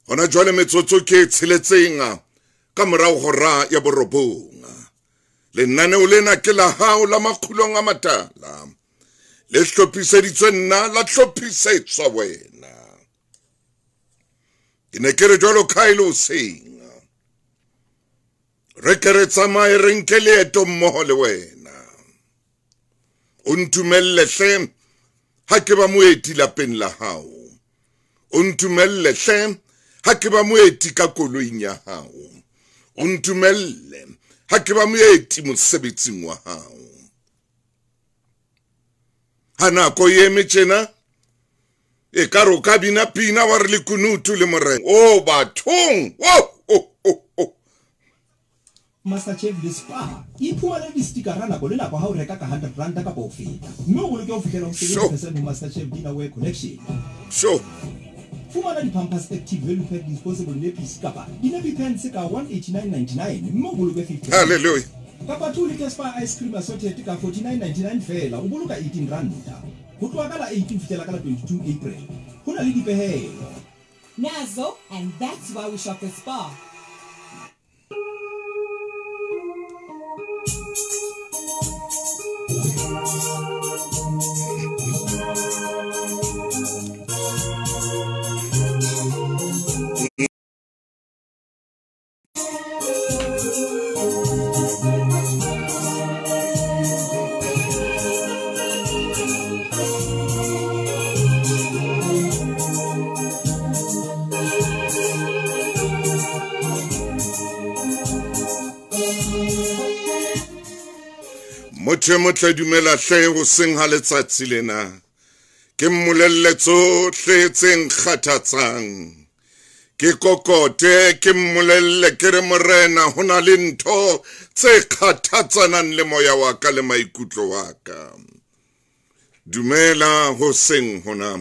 Hona jwale metsotso ke tsheletseng ka morao hora ya borobong. Lenaneo lena ke la hao la Makgulong a Matala. Le hlophiseditswe nna, la hlophisetswa wena. Ke ne ke re jwalo ka e le hoseng. Re ke re tsamaye re nke leeto mmoho le wena. O ntumelle hle ha ke ba moeti lapeng la hao. O ntumelle hle ha ke ba moeti ka koloing ya hao. O ntumelle ha ke ba moeti mosebetsing wa hao. Ha nako e eme tjena, e ka re o ka bina pina wa re lekunutu le morena. O bathong, o o o o. MasterChef le Spar iphumane di-stickera nako le nako ha o reka ka 100 rand kapa ho feta, mme o boloke ho fihlela ho 70% ho MasterChef Dinnerware Collection. Sure. Fumana di-Pampers Active Value Pack Disposable Nappies kapa di-nappy pants ka 189.99 mme o boloke 50. Hallelujah. Kapa 2 litre Spar Ice Cream Assorted ka 49.99 feela, o boloka 18 ranta. Ho tloha ka la 18 ho fihlela ka la 22 April. Ho na le dipehelo. Nazo, and that's why we shop at Spar. Motho e motle dumela hle hoseng ha letsatsi lena. Ke mmolelle tsohle tse nkgathatsang. Ke kokote, ke mmolelle ke re morena ho na le ntho tse kgathatsanang le moya wa ka le maikutlo wa ka. Dumela hoseng hona.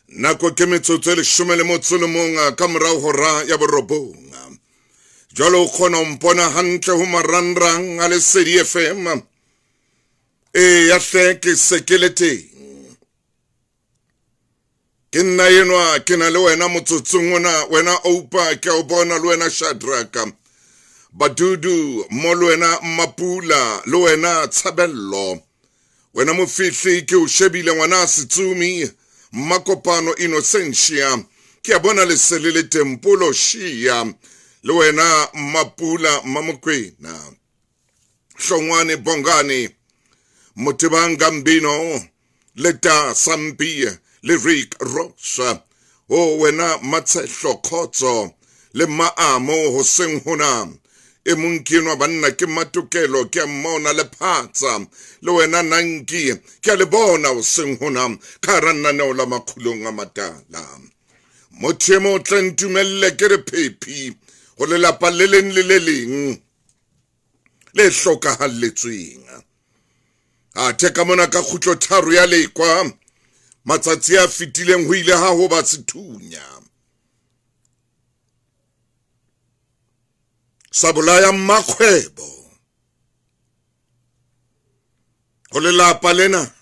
Nako ke metsotso e 11 ka morao hora ya 9. Jwale o kgona ho mpona hantle ho marangrang a Lesedi FM. E ya hle ke se ke le teng. Ke nna enwa, ke na le wena motsotsong ona, wena Oupa, ke a o bona le wena Shadraka. Badudu, mo le wena Mapula, le wena Tshabello. Wena Mofihli, ke o shebile ngwana Setsumi, Makopano Innocentia. Ke a bona lesele le Tempolo Shia, le wena Mapula Mamokwena. Hlongwane Bongani, Motebang Gambino, Leta Sampi, le Rick Ross, o wena Matshehlo Khotso, le Maamo hoseng hona. E mong ke enwa banna ke Matokelo, ke a mmona le Phatsa, le wena Nanki, ke a le bona hoseng hona ka hara lenaneo la Makgulong a Matala. Motho e motle ntumelle ke re phephi ho lelapa le leng le le leng le hlokahalletsweng. Athe ka mona ka kgutlo tharo ya lekwa, matsatsi a fetileng ho ile ha ho ba sethunya sa bolaya mmakgwebo. Ho lelapa lena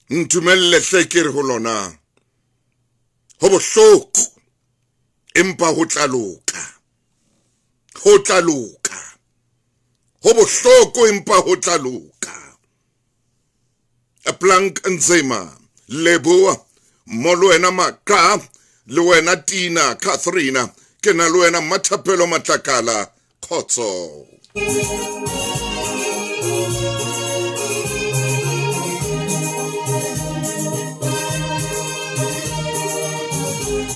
ntumelle hle ke re ho lona, ho bohloko empa ho tla loka, ho tla loka. Ho bohloko empa ho tla loka. Plank Nzema, Leboa, mo le wena Maka, le wena Tina, Catherine, ke na le wena Mathapelo Matlakala, khotso.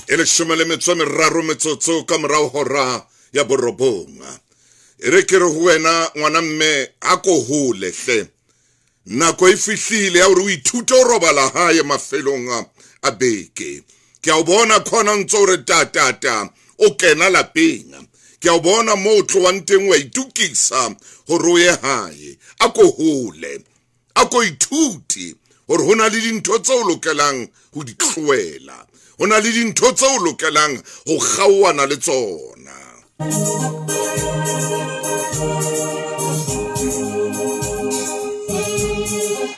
E 13 metsotso ka morao hora ya 9. E re ke re ho wena ngwana mme, a ko hole hle. Nako e fihlile ya hore o ithute ho robala hae mafelong a beke. Ke a o bona khona ntse o re ta ta ta, o kena lapeng. Ke a o bona moo o tlohang teng wa itukisa hore o ye hae. A ko hole, a ko ithute hore ho na le dintho tseo o lokelang ho di tlohela. Ho na le dintho tseo o lokelang ho kgaohana le tsona.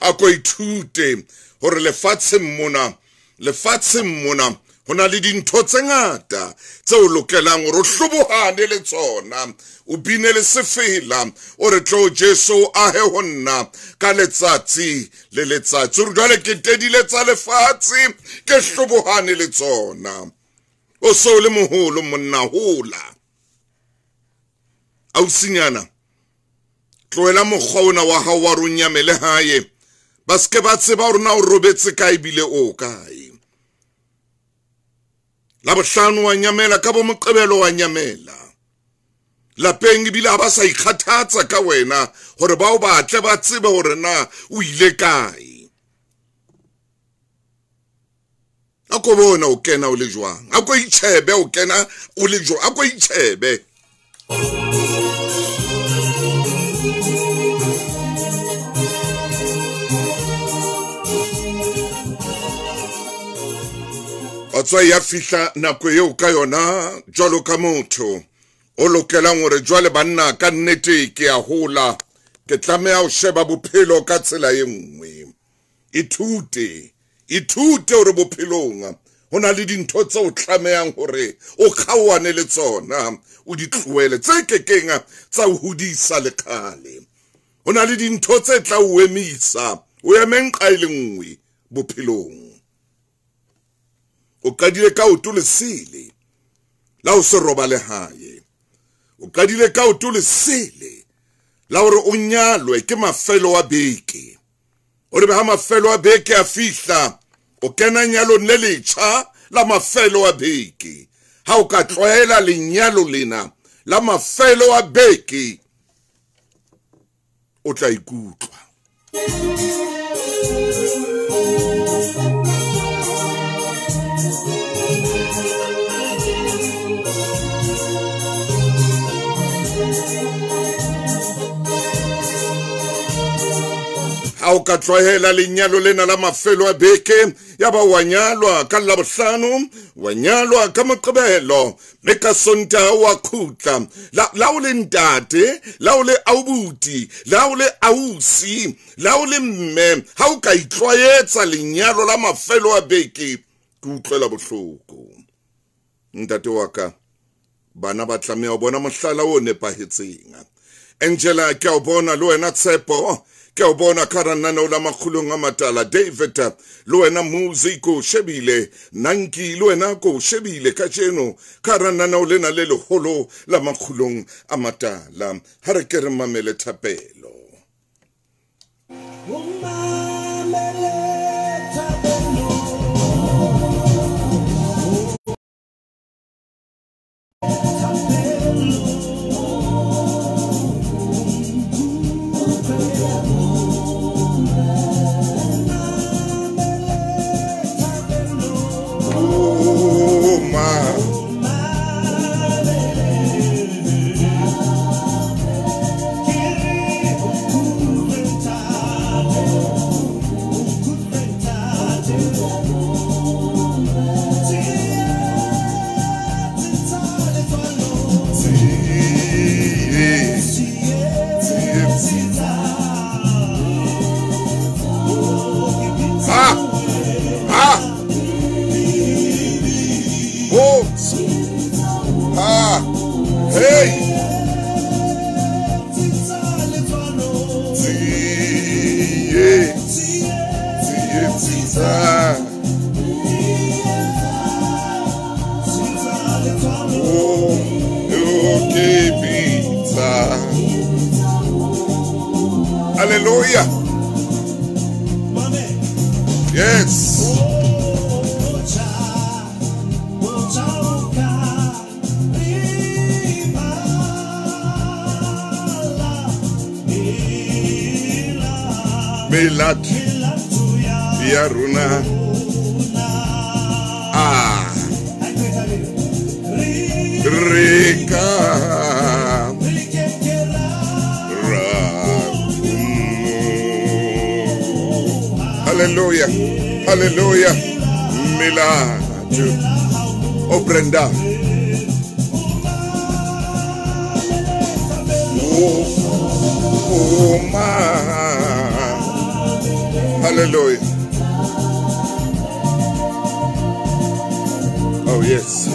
A ko ithute hore lefatsheng mona Ho na le dintho tse ngata tse o lokelang hore o hlobohane le tsona, o bine le sefela, o re tlo Jesu o ahe ho nna ka letsatsi le letsatsi. O re jwale ke tedile tsa lefatshe, ke hlobohane le tsona. O so le moholo monna, hola. Ausinyana, tlohela mokgwa ona wa hao wa rona nyamele hae. Ba se ke ba tseba hore na o robetse kae ebile o kae. La bohlano wa nyamela, ka bo Moqebelo wa nyamela. Lapeng ebile ha ba sa ikgathatsa ka wena hore ba o batle ba tsebe hore na o ile kae. A ko bona o kena o le jwang, a ko itjhebe o kena o le jwang, a ko itjhebe. Wa ya fihla nako eo ka yona jwalo ka motho o lokelang hore jwale banna ka nnete ke a hola, ke tlameha ho sheba bophelo ka tsela e nngwe. Ithute, ithute hore bophelong ho na le dintho tse o tlamehang hore o kgaohane le tsona, o di tlohele tse kekeng tsa o hodisa le kgale. Ho na le dintho tse tla o emisa, o eme nqa e le nngwe bophelong. O qadile ka oto lesele la o se robale hae. O qadile ka oto lesele la hore o nyalwe ke mafelo a beke. O re ha mafelo a beke a fihla, o kena nyalong le letjha la mafelo a beke. Ha o ka tlwaela lenyalo lena la mafelo a beke, o tla ikutlwa. Ha o ka tlwaela lenyalo lena la mafelo a beke, ya ba wa nyalwa ka Labohlano, wa nyalwa ka Moqebelo, mme ka Sontaha wa khutla. La o le ntate, la o le aubuti, la o le ausi, la o le mme, ha o ka itlwaetsa lenyalo la mafelo a beke, ke utlwela bohloko. Ntate wa ka, bana ba tlameha ho bona mohlala o nepahetseng. Angela, ke a o bona le wena Tshepo, ke o bona ka rananeo la Makgulong a Matala. David, le wena Muzi ko shebile, Nanki le wena ko shebile kajeno ka rananeo lena le leholo la Makgulong a Matala. Ha re ke re mamele thapelo. Hallelujah. Yes. Melat ya rona. Ah. Reka. Hallelujah. Hallelujah. Milatu. Oh, Brenda. Oh, oh, ma. Hallelujah. Oh yes.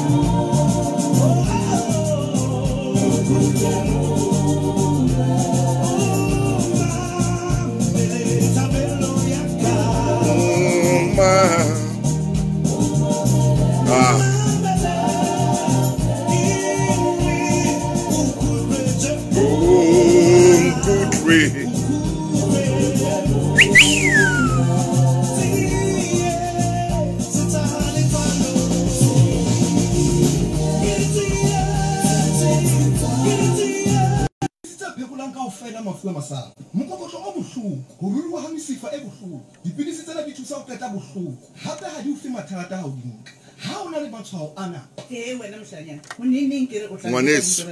Ngwaneso,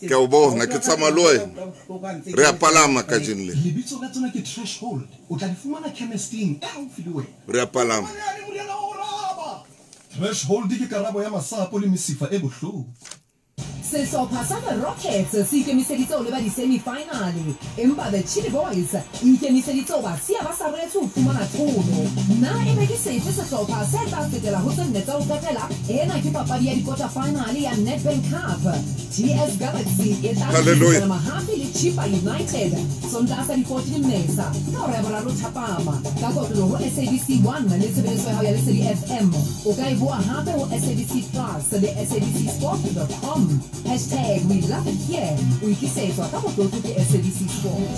ke a o bona, ke tsamaya le wena. Re a palama kajeno le. Lebitso la tsona ke Threshold. O tla di fumana chemisteng e haufi le wena. Re a palama. Threshold ke karabo ya masapo le mesifa e bohloko. Sehlopha sa The Rockets se ikemiseditse ho leba di-semi-finale, empa The Chili Boys e ikemiseditse ho ba siya ba sa reretswe ho fumana tlholo. Na ebe ke sefe sehlopha se tla fetela ho tse nne tsa ho qetela? Ena ke papadi ya di-quarter final ya Nedbank Cup. TS Galaxy e tla Hallelujah. hlodisana mahafi le Chippa United Sontaha sa di-14 Mmesa ka hora ya boraro thapama ka kotloloho ho SABC 1 le tshebeletso ya hao ya Lesedi FM. O ka e boa hape ho SABC Plus le sabcsport.com. Hashtag we love it here. O ikisetswa ka motlotlo ke SABC Sport.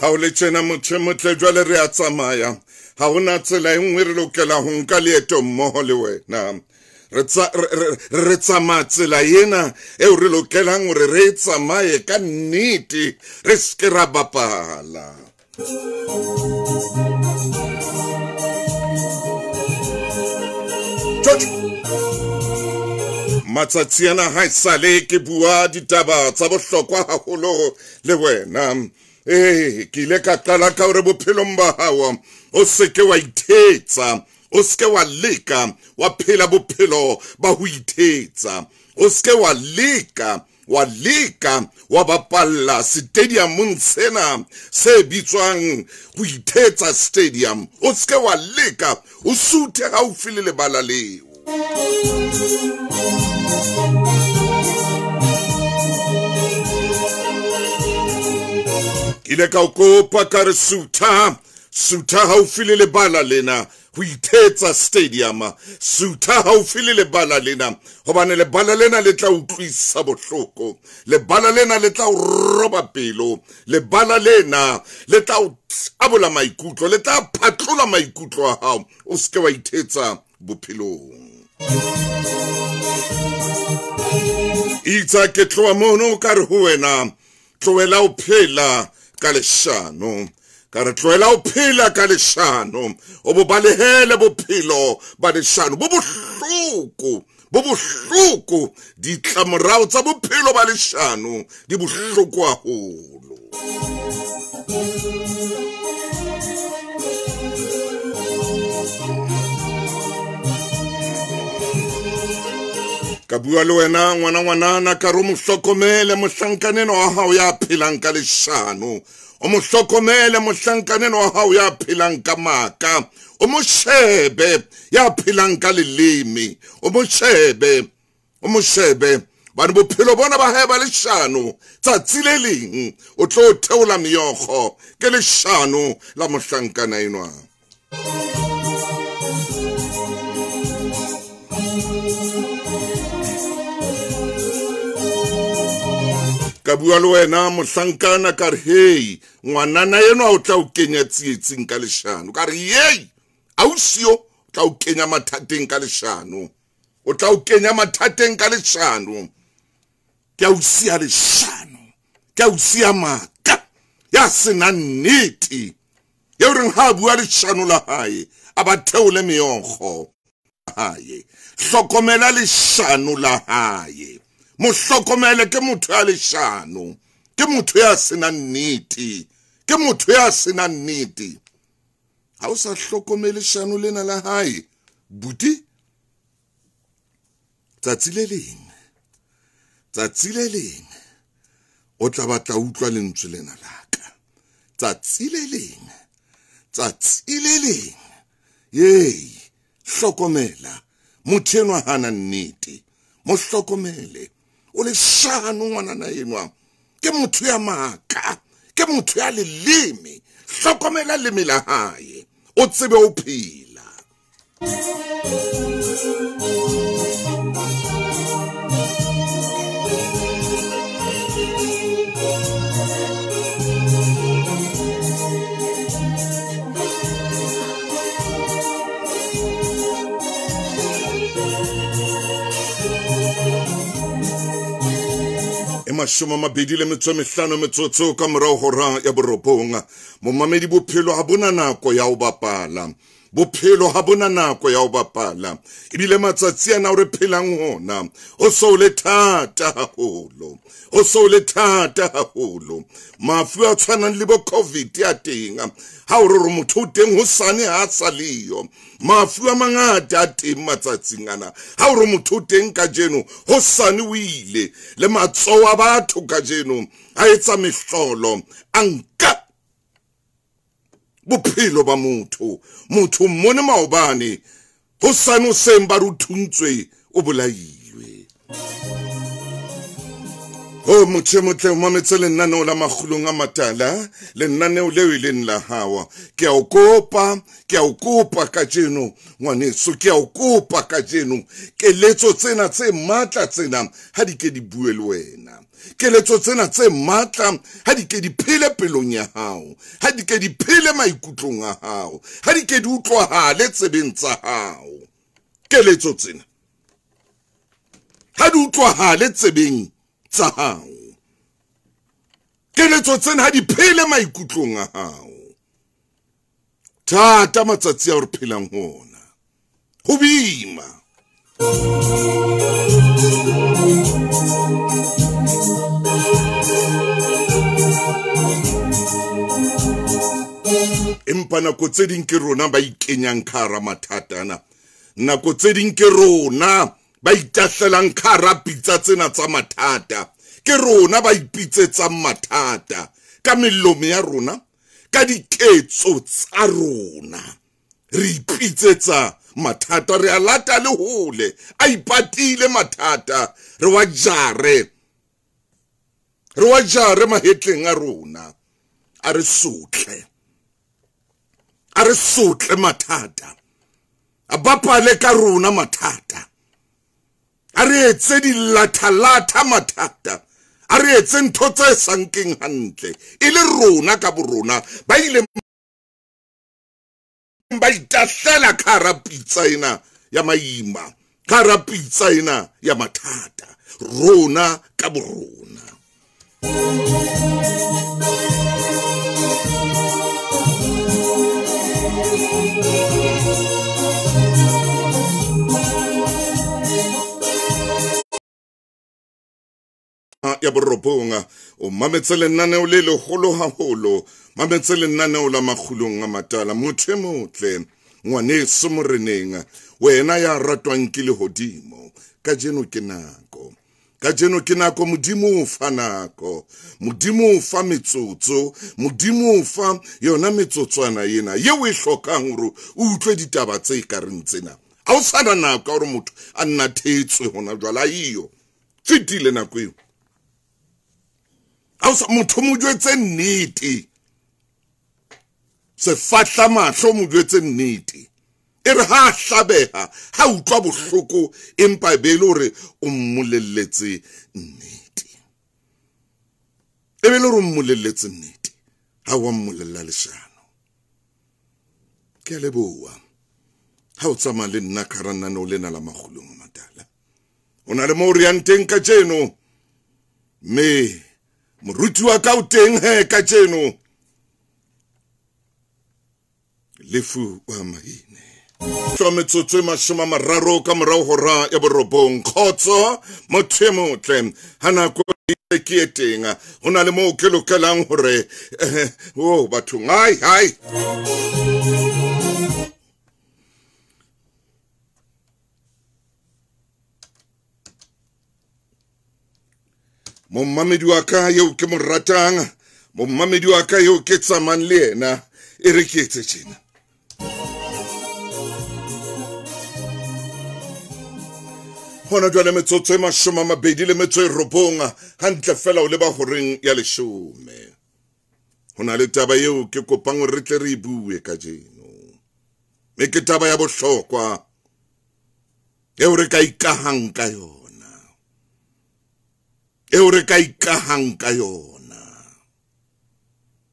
Ha o le tjena motho e motle, jwale re a tsamaya. Ha hona tsela e nngwe re lokela ho nka leeto mmoho le wena. Re tsamaya tsela ena eo re lokelang hore re e tsamaye ka nnete, re se ke ra bapala. Tjotjo. Matsatsi ana ha esale ke bua ditaba tsa bohlokwa haholo le wena. Ke ile ka qala ka hore bophelong ba hao o se ke wa ithetsa, o se ke wa leka wa phela bophelo ba ho ithetsa, o se ke wa leka wa bapalla stadiumong sena se bitswang ho ithetsa stadium. O se ke wa leka o suthe haufi le lebala leo. Ke ile ka o kopa ka re sutha, sutha haufi le lebala lena, ho ithetsa stadium, sutha haufi le lebala lena, hobane lebala lena le tla utlwisa bohloko, lebala lena le tla o roba pelo, lebala lena le tla o tabola maikutlo, le tla phatlola maikutlo a hao. O se ke wa ithetsa bophelong. Itsa ke tloha mono ka re ho wena, tlohela ho phela ka leshano. Ka re tlohela ho phela ka leshano, o bo balehele bophelo ba leshano. Bo bohloko, bo bohloko. Ditlamorao tsa bophelo ba leshano di bohloko haholo. Ka bua le wena ngwana ngwanana, ka re o mo hlokomele mohlankaneno wa hao ya phelang ka leshano. O mo hlokomele mohlankaneno wa hao ya phelang ka maka. O mo shebe ya phelang ka leleme. O mo shebe, o mo shebe. Bane bophelo bona ba hae ba leshano, tsatsi le leng o tlo theola meokgo ke leshano la mohlankana enwa. Ka bua le wena mohlankana ka re, hei, ngwanana enwa o tla o kenya tsietsing ka leshano. Ka re, yei, ausi o tla o kenya mathateng ka leshano. O tla o kenya mathateng ka leshano. Ke ausi ya leshano, ke ausi ya maka, ya senang nnete. Eo reng ha a bua leshano la hae, a ba theole meokgo hae. Hlokomela leshano la hae. Mo hlokomele, ke motho ya leshano, ke motho ya senang nnete, ke motho ya senang nnete. Ha o sa hlokomele leshano lena la hae, buti, tsatsi le leng, tsatsi le leng o tla batla utlwa lentswe lena la ka. Tsatsi le leng, tsatsi le leng, yei, hlokomela, motho enwa hana nnete, mo hlokomele, o leshano ngwanana enwa, ke motho ya maka, ke motho ya leleme, hlokomela leme la hae, o tsebe o phela. 25 metsotso ka morao hora ya 9. Momamedi, bophelo ha bona nako ya ho bapala. Bophelo ha bona nako ya ho bapala. Ebile matsatsi ana o re phelang hona, o so le thata haholo. O so le thata haholo. Mafu a tshwanang le bo COVID ya teng. Ha o re motho o teng hosane ha sa leyo. Mafu a mangata a teng matsatsing ana. Ha o re motho o teng kajeno, hosane o ile. Le matsoho a batho kajeno a etsa mehlolo, a nka bophelo ba motho. Motho mmone maobane, hosane o seng ba re o thuntswe, o bolailwe. Ho motho e motle, o mametse lenaneo la Makgulong a Matala, lenaneo leo e leng la hao. Ke a o kopa, ke a o kopa kajeno, ngwaneso, ke a o kopa kajeno. Keletso tsena tse matla tsena ha di ke di bue le wena. Keletso tsena tse matla ha di ke di phele pelong ya hao, ha di ke di phele maikutlong a hao, ha di ke di utlwahale tsebeng tsa hao. Keletso tsena ha di utlwahale tsebeng tsa hao. Keletso tsena ha di phele maikutlong a hao. Thata matsatsi a re phelang ho ona, ho boima. Empa nako tse ding ke rona ba ikenyang ka hara mathata ana. Nako tse ding ke rona ba itahlelang ka hara pitsa tsena tsa mathata. Ke rona ba ipitsetsang mathata ka melomo ya rona, ka diketso tsa rona. Re ipitsetsa mathata, re a lata le hole, a ipatile mathata, re wa jare. Re wa jare mahetleng a rona, a re sotle. A re sotle mathata, a bapale ka rona mathata, a re etse dilathalatha mathata, a re etse ntho tse sa nkeng hantle, e le rona ka borona ba ile ba itahlela ka hara pitsa ena ya maima, ka hara pitsa ena ya mathata, rona ka borona. Ya 9, o mametse lenaneo le leholo haholo, mametse lenaneo la Makgulong a Matala. Motho e motle, ngwaneso moreneng, wena ya ratwang ke lehodimo, kajeno ke nako. Kajeno ke nako, Modimo o fa nako, Modimo o fa metsotso, Modimo o fa yona metsotswana ena yeo e hlokang hore o utlwe ditaba tse kareng tsena. Ha o sana nako ya hore motho a nna thetswe hona jwale, a iyo fetile nako eo. Ha o sa motho mo jwetse nnete, sefahla mahlo mo jwetse nnete, e re ha hlabeha, ha utlwa bohloko, empa e be le hore o mmolelletse nnete. E be le hore o mmolelletse nnete, ha wa mmolella leshano. Ke a leboha ha o tsamaya le nna ka hara lenaneo lena la Makgulong a Matala. O na le moo re yang teng kajeno, mme moruti wa ka o teng he kajeno, Lefu wa Mahine. Tlo metsotso e 30 ka morao hora ya 9. Kgotso motho e motle, ha nako ke e teng, ho na le moo ke lokelang hore o bathong, hai hai. Mommamedi wa ka eo ke mo ratang, mommamedi wa ka eo ke tsamayang le yena, e re ke etse tjena. Hona jwale metsotso e 29 hantle fela o leba horeng ya 10. Ho na le taba eo ke kopang hore re tle re e bue kajeno. Mme ke taba ya bohlokwa eo re ka ikahang ka yona. Eo re ka ikahang ka yona.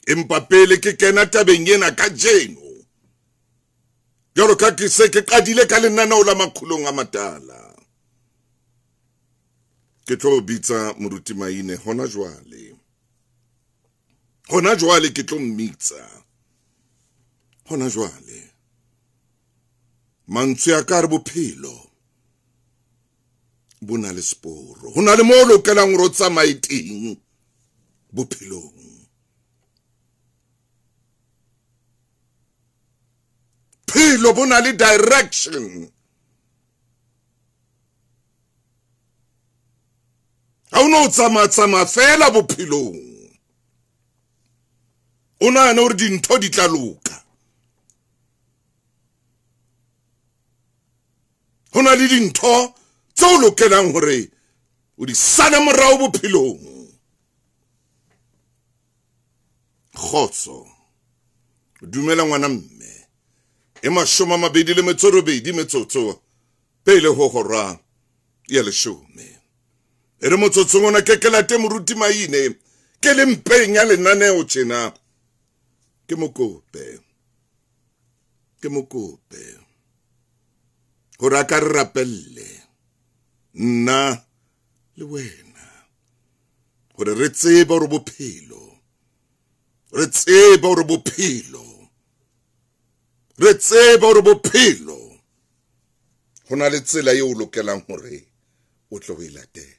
Empa pele ke kena tabeng ena kajeno, jwalo ka ke se ke qadile ka lenaneo la Makgulong a Matala, ke tlo bitsa Moruti Maine hona jwale. Hona jwale ke tlo mmitsa. Hona jwale. Mantswe a ka re bophelo bo na le seporo. Ho na le moo o lokelang hore o tsamaye teng bophelong. Phelo bo na le direction. Ha o no tsamaya fela bophelong, o nahana hore dintho di tla loka. Ho na le dintho tse o lokelang hore o di sale morao bophelong. Kgotso, dumela ngwana mme, e 28 metsotso pele ho hora ya 10. E re motsotsong ona ke late Moruti Maine, ke le mpeng ya lenaneo tjena. Ke mokope hore a ka re rapelle nna le wena, hore re tsebe hore bophelo, re tsebe hore bophelo, re tsebe hore bophelo ho na le tsela eo o lokelang hore o tlo e latele.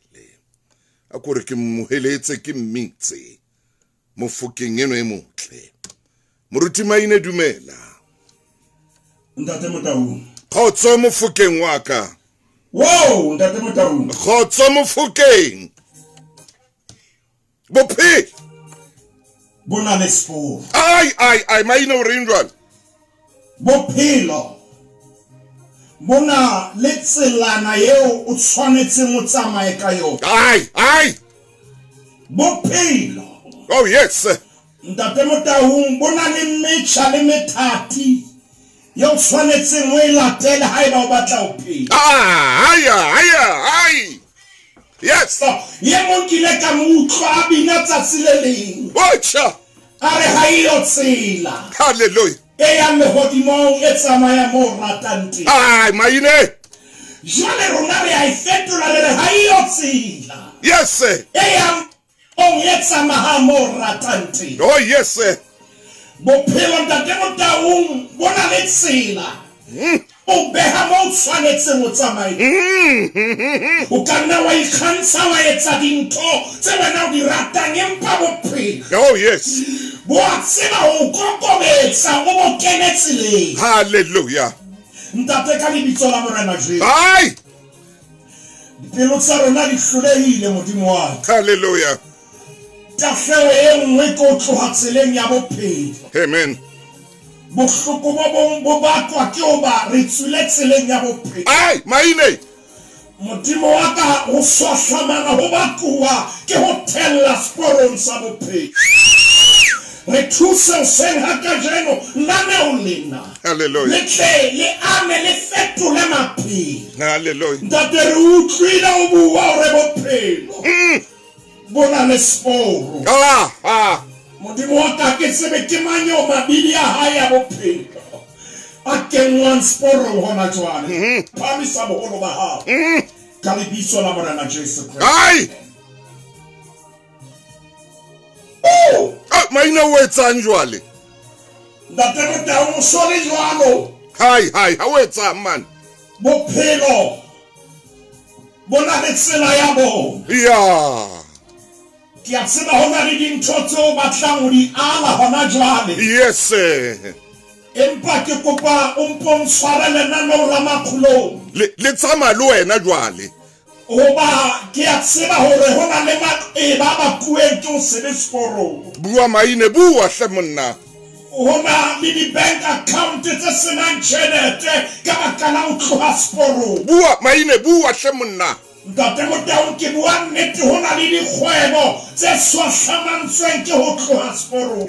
A kore ke mmoheletse, ke mmitse mofokeng eno e motle. Moruti Maine, dumela. Ntate Motaung. Kgotso mofokeng wa ka. Wow, Ntate Motaung. Kgotso mofokeng. Bophelo bo na le seporo. Ai ai ai, Maine o reng jwale? Bophelo bo na le tselana eo o tshwanetseng o tsamaye ka yona. Ai ai. Bophelo. Oh yes. Ntate Motaung, bo na le metjha le methati eo tshwanetseng o e latele haeba o batla ho phela. Ah, ai ai ai. Yes. Ye mong ke ile ka mo utlwa a bina tsatsi le leng. Watcha. A re ha eyo tsela. Hallelujah. E yang lehodimong e tsamaya mo ratang teng. Ai, Maine. Jwale rona re a e fetola re re ha eyo tsela. Yes sir. E yang ong e tsamaya mo ratang teng. Oh yes sir. Bophelo Ntate Motaung bo na le tsela. O beha mo tshwanetseng o tsamaye. O ka nna wa ikgantsha wa etsa dintho tse wena o di ratang, empa bophelo, oh yes, bo a tseba ho kokobetsa, o bo kene tseleng. Hallelujah. Ntate, ka lebitso la Morena Jesu. Ai. Dipelo tsa rona di hlolehile, Modimo wa ka. Hallelujah. Tahleho e nngwe ke ho tloha tseleng ya bophelo. Amen. Bohloko bo bong bo bakwa ke hoba re tswile tseleng ya bophelo. Ai, Maine. Modimo wa ka, ho swahlamana ho bakuwa ke ho thella seporong sa bophelo. Re thuse hoseng ha kajeno lenaneo lena. Hallelujah. Le tle le ame le fetole maphelo. Hallelujah. Ntate, re utlwile o bua hore bophelo bo na le seporo. Ah, ah. Modimo wa ka, ke tsebe ke mang eo mabidi a hae a bophelo a kenngwang seporong hona jwale. Phamisa boholo ba hao ka lebitso la Morena Jesu Kreste. Ai. Oh, Maine o etsang jwale? Ntate Motaung, o so le jwalo. Hai hai, ha o etsang man? Bophelo bo na le tsela ya bona. Ya. Ke a tseba ho na le dintho tseo batlang ho di ala hona jwale. Yes sir. Empa ke kopa o mpo ntshware lenaneo la Makgulong. Le tsamaya le wena jwale. Hoba ke a tseba hore ho na le maqeba a bakuweng ke ho se be seporong. Bua maine, bua hle monna. Ho na le di-bank account tse se nang tjhelete ka baka la ho tloha seporong. Bua maine, bua hle monna. Ntate Motaung, ke bua nnete, ho na le dikgwebo tse swahlamantsweng ke ho tloha seporong.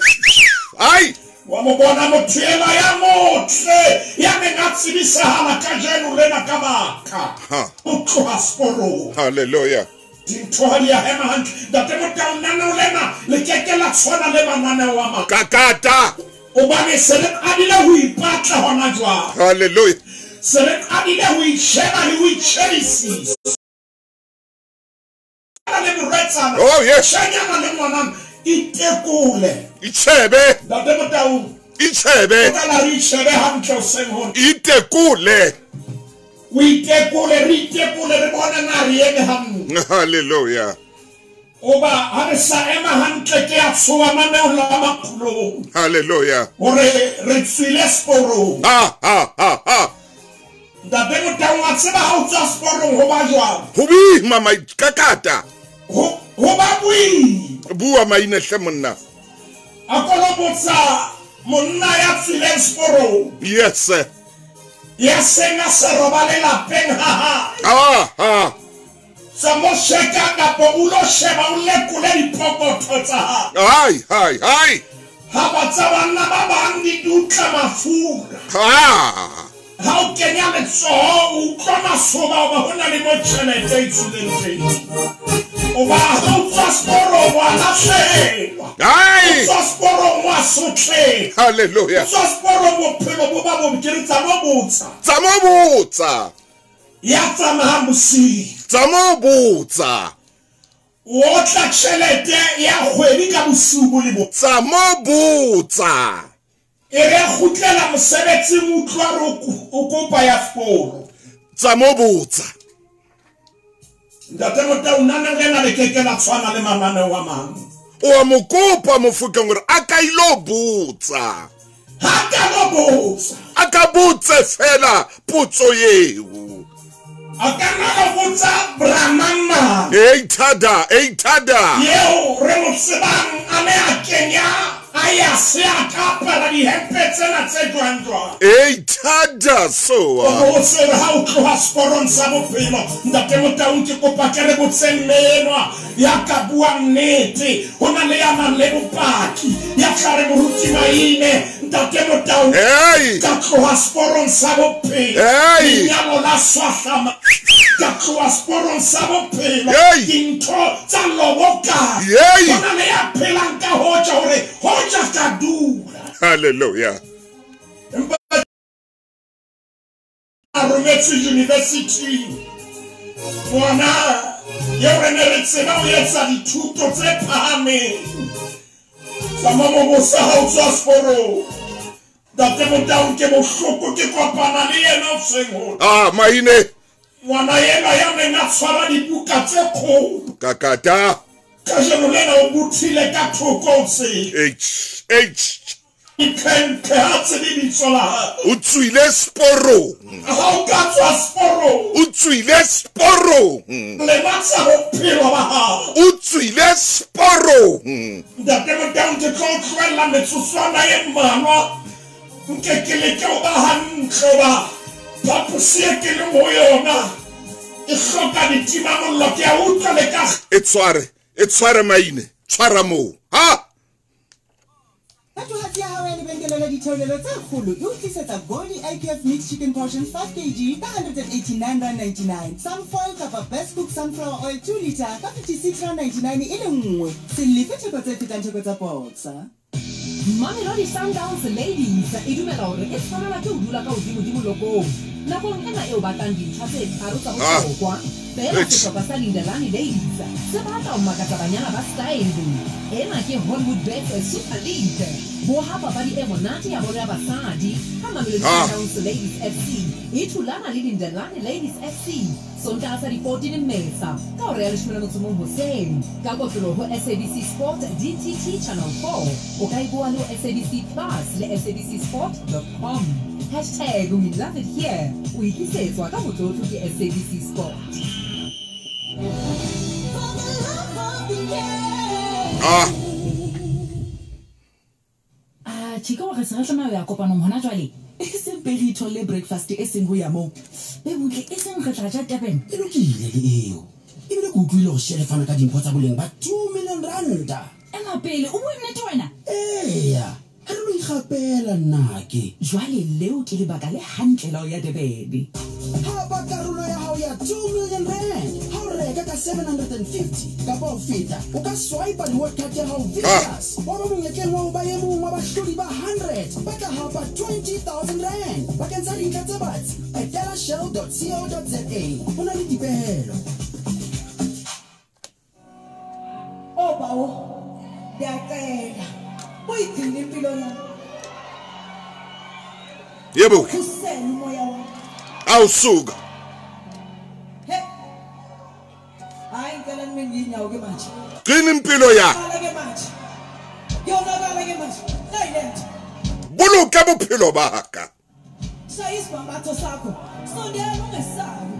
Ai! Wa mo bona motho enwa ya motle ya neng a tsebisahala kajeno lena ka baka ho tloha seporong. Hallelujah. Dintho ha di a hema hantle. Ntate Motaung, lenaneo lena le ke ke la tshwana le mananeo a mang. Kakata. Hobane se re qadile ho ipatla hona jwale. Hallelujah. Se re qadile ho itjheba le ho itjhebisisa. Le morwetsana. Oh yes. Shanyana le ngwanana. Itekole. Itjhebe. Ntate Motaung. Itjhebe. O tla la re itjhebe hantle hoseng hona. Itekole. O itekole, re itekole, re bone na re eme hantle. Hallelujah. Oba ha re sa ema hantle ke a tshoha mananeo la makulong. Hallelujah. Hore re tswile seporong. Ha ha ha ha. Ntate Motaung, wa tseba ha o tswa seporong ho ba jwang? Ho boima maikakata. Ho ba boima. Bua maine hle monna. A ko botsa monna ya tswileng seporong. Yes sir. Ya seng a sa robale lapeng ha hae. Ah ha. Tsa mo sheka kapa o lo sheba o lekole dipokotho tsa hae. Ai ai ai. Ha ba tsa banna ba bang di dutla mafura. Ha. Ha o kenya letsoho o utlwa masoba hoba ho na le mo tjhelete e tswileng teng. Hoba ha o tswa seporong wa lahlehelwa. Ai. O tswa seporong wa sotleha. Hallelujah. O tswa seporong bophelo bo ba bobe, ke re tsa mo botsa. Tsa mo botsa. Ya tsamayang bosiu. Tsa mo botsa. O otla tjhelete ya kgwedi ka bosiu bo le bo. Tsa mo botsa. E re kgutlela mosebetsing utlwa re o kopa ya sekolo. Tsa mo botsa. Ntate Motaung, lenaneo lena le ke ke la tshwana le mananeo a mang. O a mo kopa Mofokeng hore a ka ilo botsa. Ha ka lo botsa. A ka botse fela potso eo. A ka nna lo botsa Brahmana. Ei thada, ei thada. Eo re mo tsebang a ne a kenya a ya se a ka apara dihempe tsena tse jwang jwang. Ei thada soa. O botse hore ha o tloha seporong sa bophelo, Ntate Motaung, ke kopa ke re botse mme enwa ya ka buang nnete. Ho na le ya nang le bopaki ya tla re moruti Maine, Ntate Motaung, Hey. ka tloha seporong sa bophelo. Hey. Lenyalo la swahlama. Ka tloha seporong sa bophelo. Hey. Dintho tsa loboka. Hey. Ho na le ya phelang ka hoja hore hoja ka dula. Hallelujah. Empa a rometse university. Ngwana eo re ne re tseba o etsa dithuto tse phahameng. Tsa mo botsa ha o tswa seporong. Ntate Motaung, ke bohloko ke kopana le yena hoseng hona. Ah, maine. Ngwana enwa ya neng a tshwara dibuka tse kgolo. Kakata. Kajeno lena o bothile ka thoko ho tsela. H H. Itlhentlhe ha tsebe lebitso la hae. O tswile seporong. Ha o ka tswa seporong. O tswile seporong. Lematsa bophelo ba hao. O tswile seporong. Ntate Motaung, ke tlo o tlohella metsotswana e mmalwa. Nke ke leke ho ba hantle hoba phaposi e ke leng ho yona e hloka ditimamollo. Ke a utlwa le ka E tshware, e tshware maine, tshwara moo. Ha! Thatohatsi ya hao ya lebenkele la ditheolelo tse kgolo e o tlisetsa Goldie IQF Mixed Chicken Portion 5 kg ka 189.99, Sunfoil kapa Best Cook Sunflower Oil 2 liter ka 56.99 e le nngwe. Se lefe theko tse fetang theko tsa boxa. Mamelodi Sundowns Ladies e dumela hore e tshwanelwa ke ho dula ka hodimodimo lokong nakong ena eo batlang dintlha tse tharo tsa bohlokwa. Feela sehlopha sa Lindelani Ladies se batla ho makatsa banyana ba style. Ena ke Hollywood Bets Super League. Boha papadi e monate ya bolo ya basadi ha Mamelodi Sundowns Ladies FC e thulana le Lindelani Ladies FC Sontaha sa di-14 Mmesa ka hora ya 11 hoseng ka kotloloho ho SABC Sport DTT Channel 4. O ka e boha le ho SABC Plus le sabcsport.com. Hashtag we love it here. O itlisetswa ka motlotlo ke SABC Sport. Ah. Ah, chika wa re se re tlameha ho ya kopanong hona jwale. E seng pele re itholle breakfast e seng ho ya moo. Be butle e seng re tla ja Durban. E lokile le eo. Ebile ke utlwile hore Shell e fana ka dimpho tsa boleng ba 2 million ranta. Ema pele, o bua nnete wena? Eya, ha re lo ikgapela nnake. Jwale leo ke lebaka le hantle la ho ya Durban. Hapa karolo ya hao ya 2 million rand. Ha o reka ka 750 kapa ho feta, o ka swipe reward card ya hao Vicious. Wa ba monyetleng wa ho ba e mong wa bahlodi ba 100 ba tla hapa 20,000 rand. Bakeng sa dintlha tse batsi, etela shell.co.za. Ho na le dipehelo. Oh bawo, ngiyacela uyigcine impilo yami. Yebo. Khusela umoya wami. Awusuka. He. Hayi ngicela nime nginyawo ke manje. Gcina impilo yakho. Ke manje. Kuyonakala ke manje. Silent. Boloka bophelo ba ka. Shaya isibambatho sakho. Sondela ungesabi.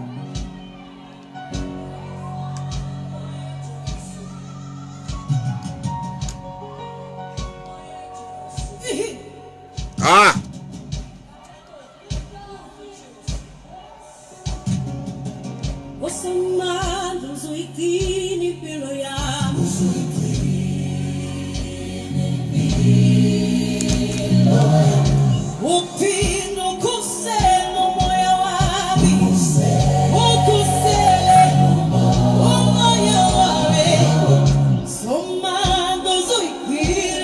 Ah.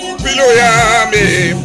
Impilo yami.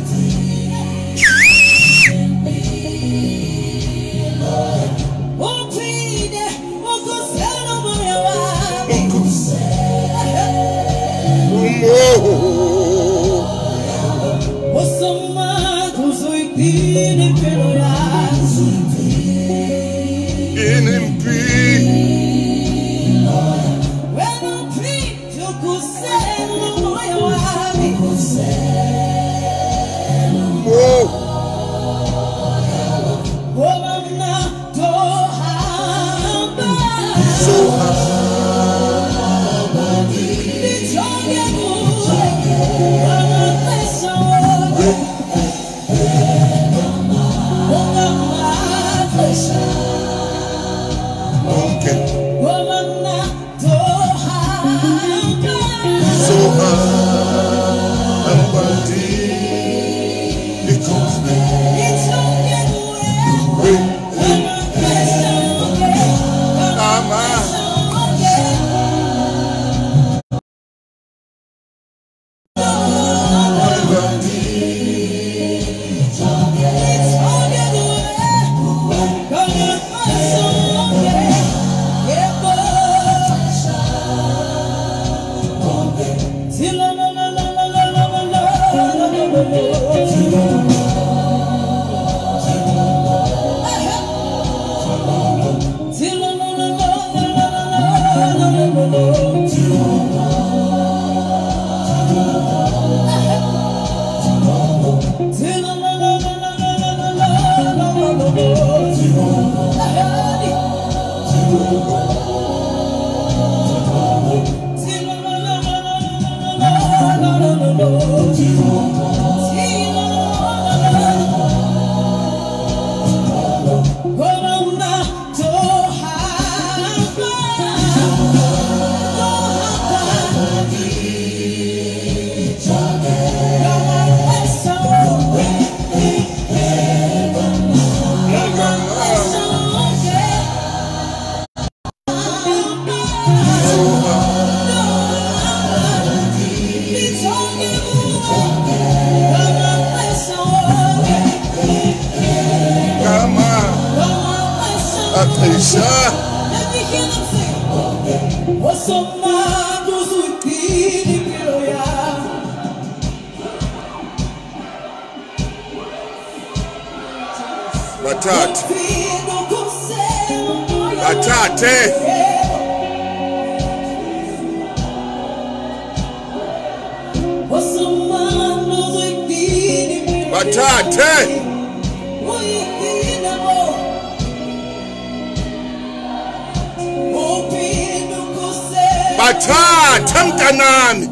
Bathathe mntanami.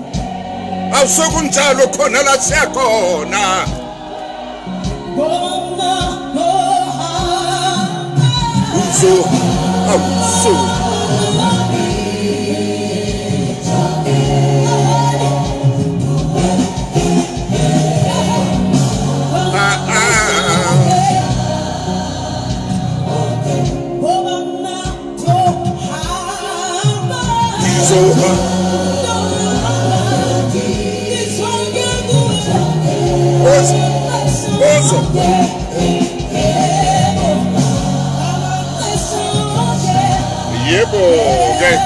Awusokunjalo khona la siyakhona. Uzo awuso. Ozo. Yebo, okay.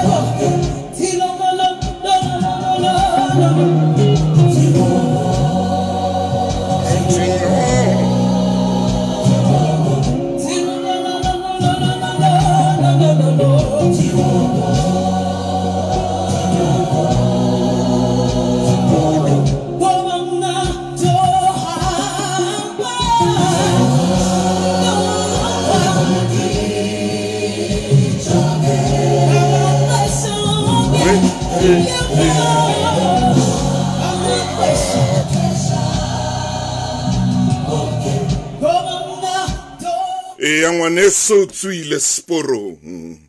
Ya ngwaneso tswile seporong.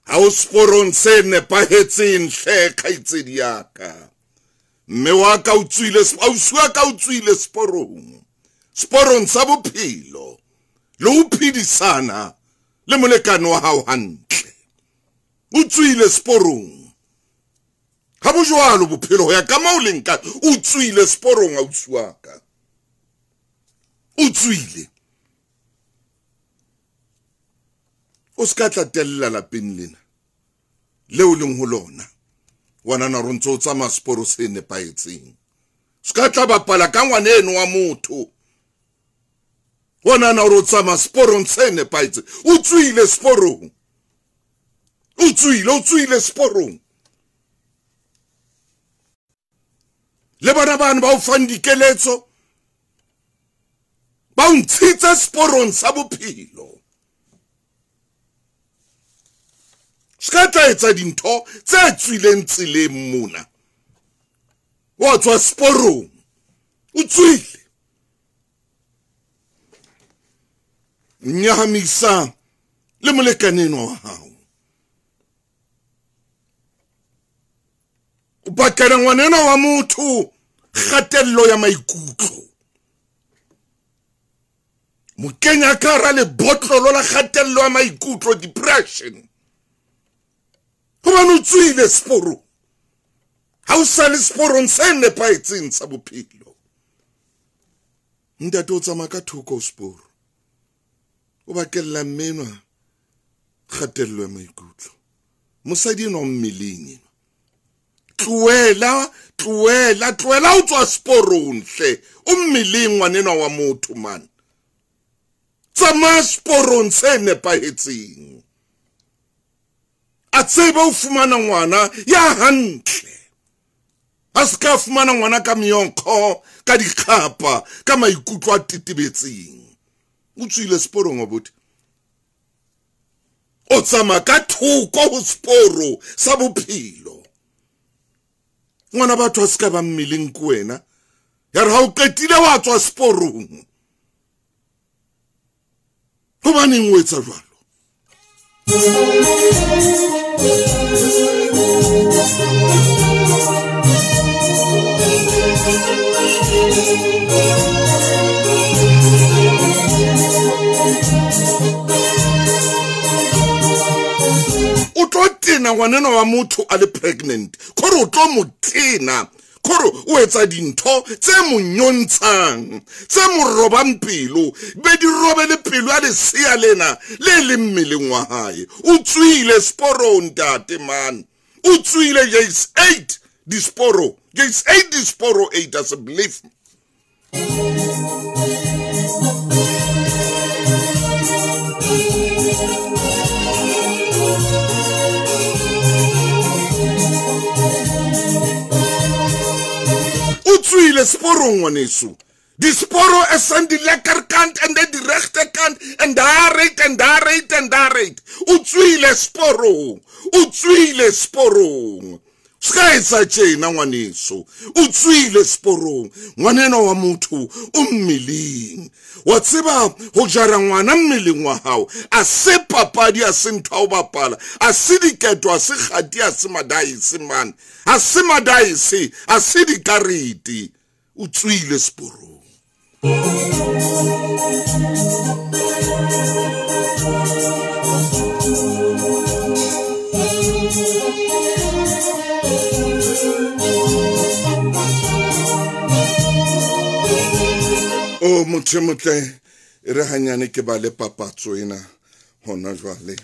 Ha o seporong se nepahetseng hle kgaitsedi ya ka. Mme wa ka o tswile, ausi wa ka o tswile seporong. Seporong sa bophelo. Le ho phedisana le molekane wa hao hantle. O tswile seporong. Ha bo jwalo bophelo ho ya ka moo leng ka, o tswile seporong ausi wa ka. O tswile. O ska tla tella lapeng lena leo leng ho lona. Wena na ro ntso tsamaya seporo se nepahetseng. Ska tla bapala ka ngwana eno wa motho. Wena na ro tsamaya seporong se nepahetseng. O tswile seporong. O tswile seporong. Le bana bana ba o fang dikeletso ba o ntshitse seporong sa bophelo. Ska tla etsa dintho tse tswileng tseleng mona. Wa tswa seporong. O tswile. Nyahamisa le molekane wa hao. O bakela ngwaneno wa motho kgatello ya maikutlo. Mo kenya ka hara lebotlolo la kgatello ya maikutlo, depression. Hobane o tswile seporong. Ha o sa le seporong se nepahetseng sa bophelo. Ntate o tsamaya ka thoko ho seporo. O bakella mme enwa kgatello ya maikutlo. Mosadi enwa o mmeleng enwa. Tlohela, tlohela, tlohela o tswa seporong hle. O mmeleng ngwanenwa wa motho man. Tsamaya seporong se nepahetseng. A tsebe o fumana ngwana ya hantle. A se ka fumana ngwana ka meonkgo, ka dikgapa, ka maikutlo a tetebetseng. O tswile seporong abuti. O tsamaya ka thoko ho seporo sa bophelo. Ngwana batho a se ka ba mmeleng ke wena. Ya re ha o qetile wa tswa seporong. Hobaneng o etsa jwalo? O tlo tena ngwaneno wa motho a le pregnant. Kore o tlo mo tena. Kore o etsa dintho tse mo nyontshang, tse mo robang pelo, be di robele pelo ya lesea lena le leng mmeleng wa hae. O tswile seporong ntate man. O tswile jase 8 disporo. Jase 8 disporo 8 as a belief. O tswile seporong ngwaneso. Disporo is aan die lekkerkant en die rechterkant en daaruit en daaruit en daaruit. O tswile seporong. O tswile seporong. Ska etsa tjena ngwaneso, o tswile seporong, ngwaneno wa motho o mmeleng. Wa tseba ho jara ngwana mmeleng wa hao, a se papadi, a se ntho ya ho bapala, a se diketo, a se kgati, a se madaese man, a se madaese, a se dikarete. O tswile seporong. O motho motle re hanyane ke ba le papatso ena hona jwale.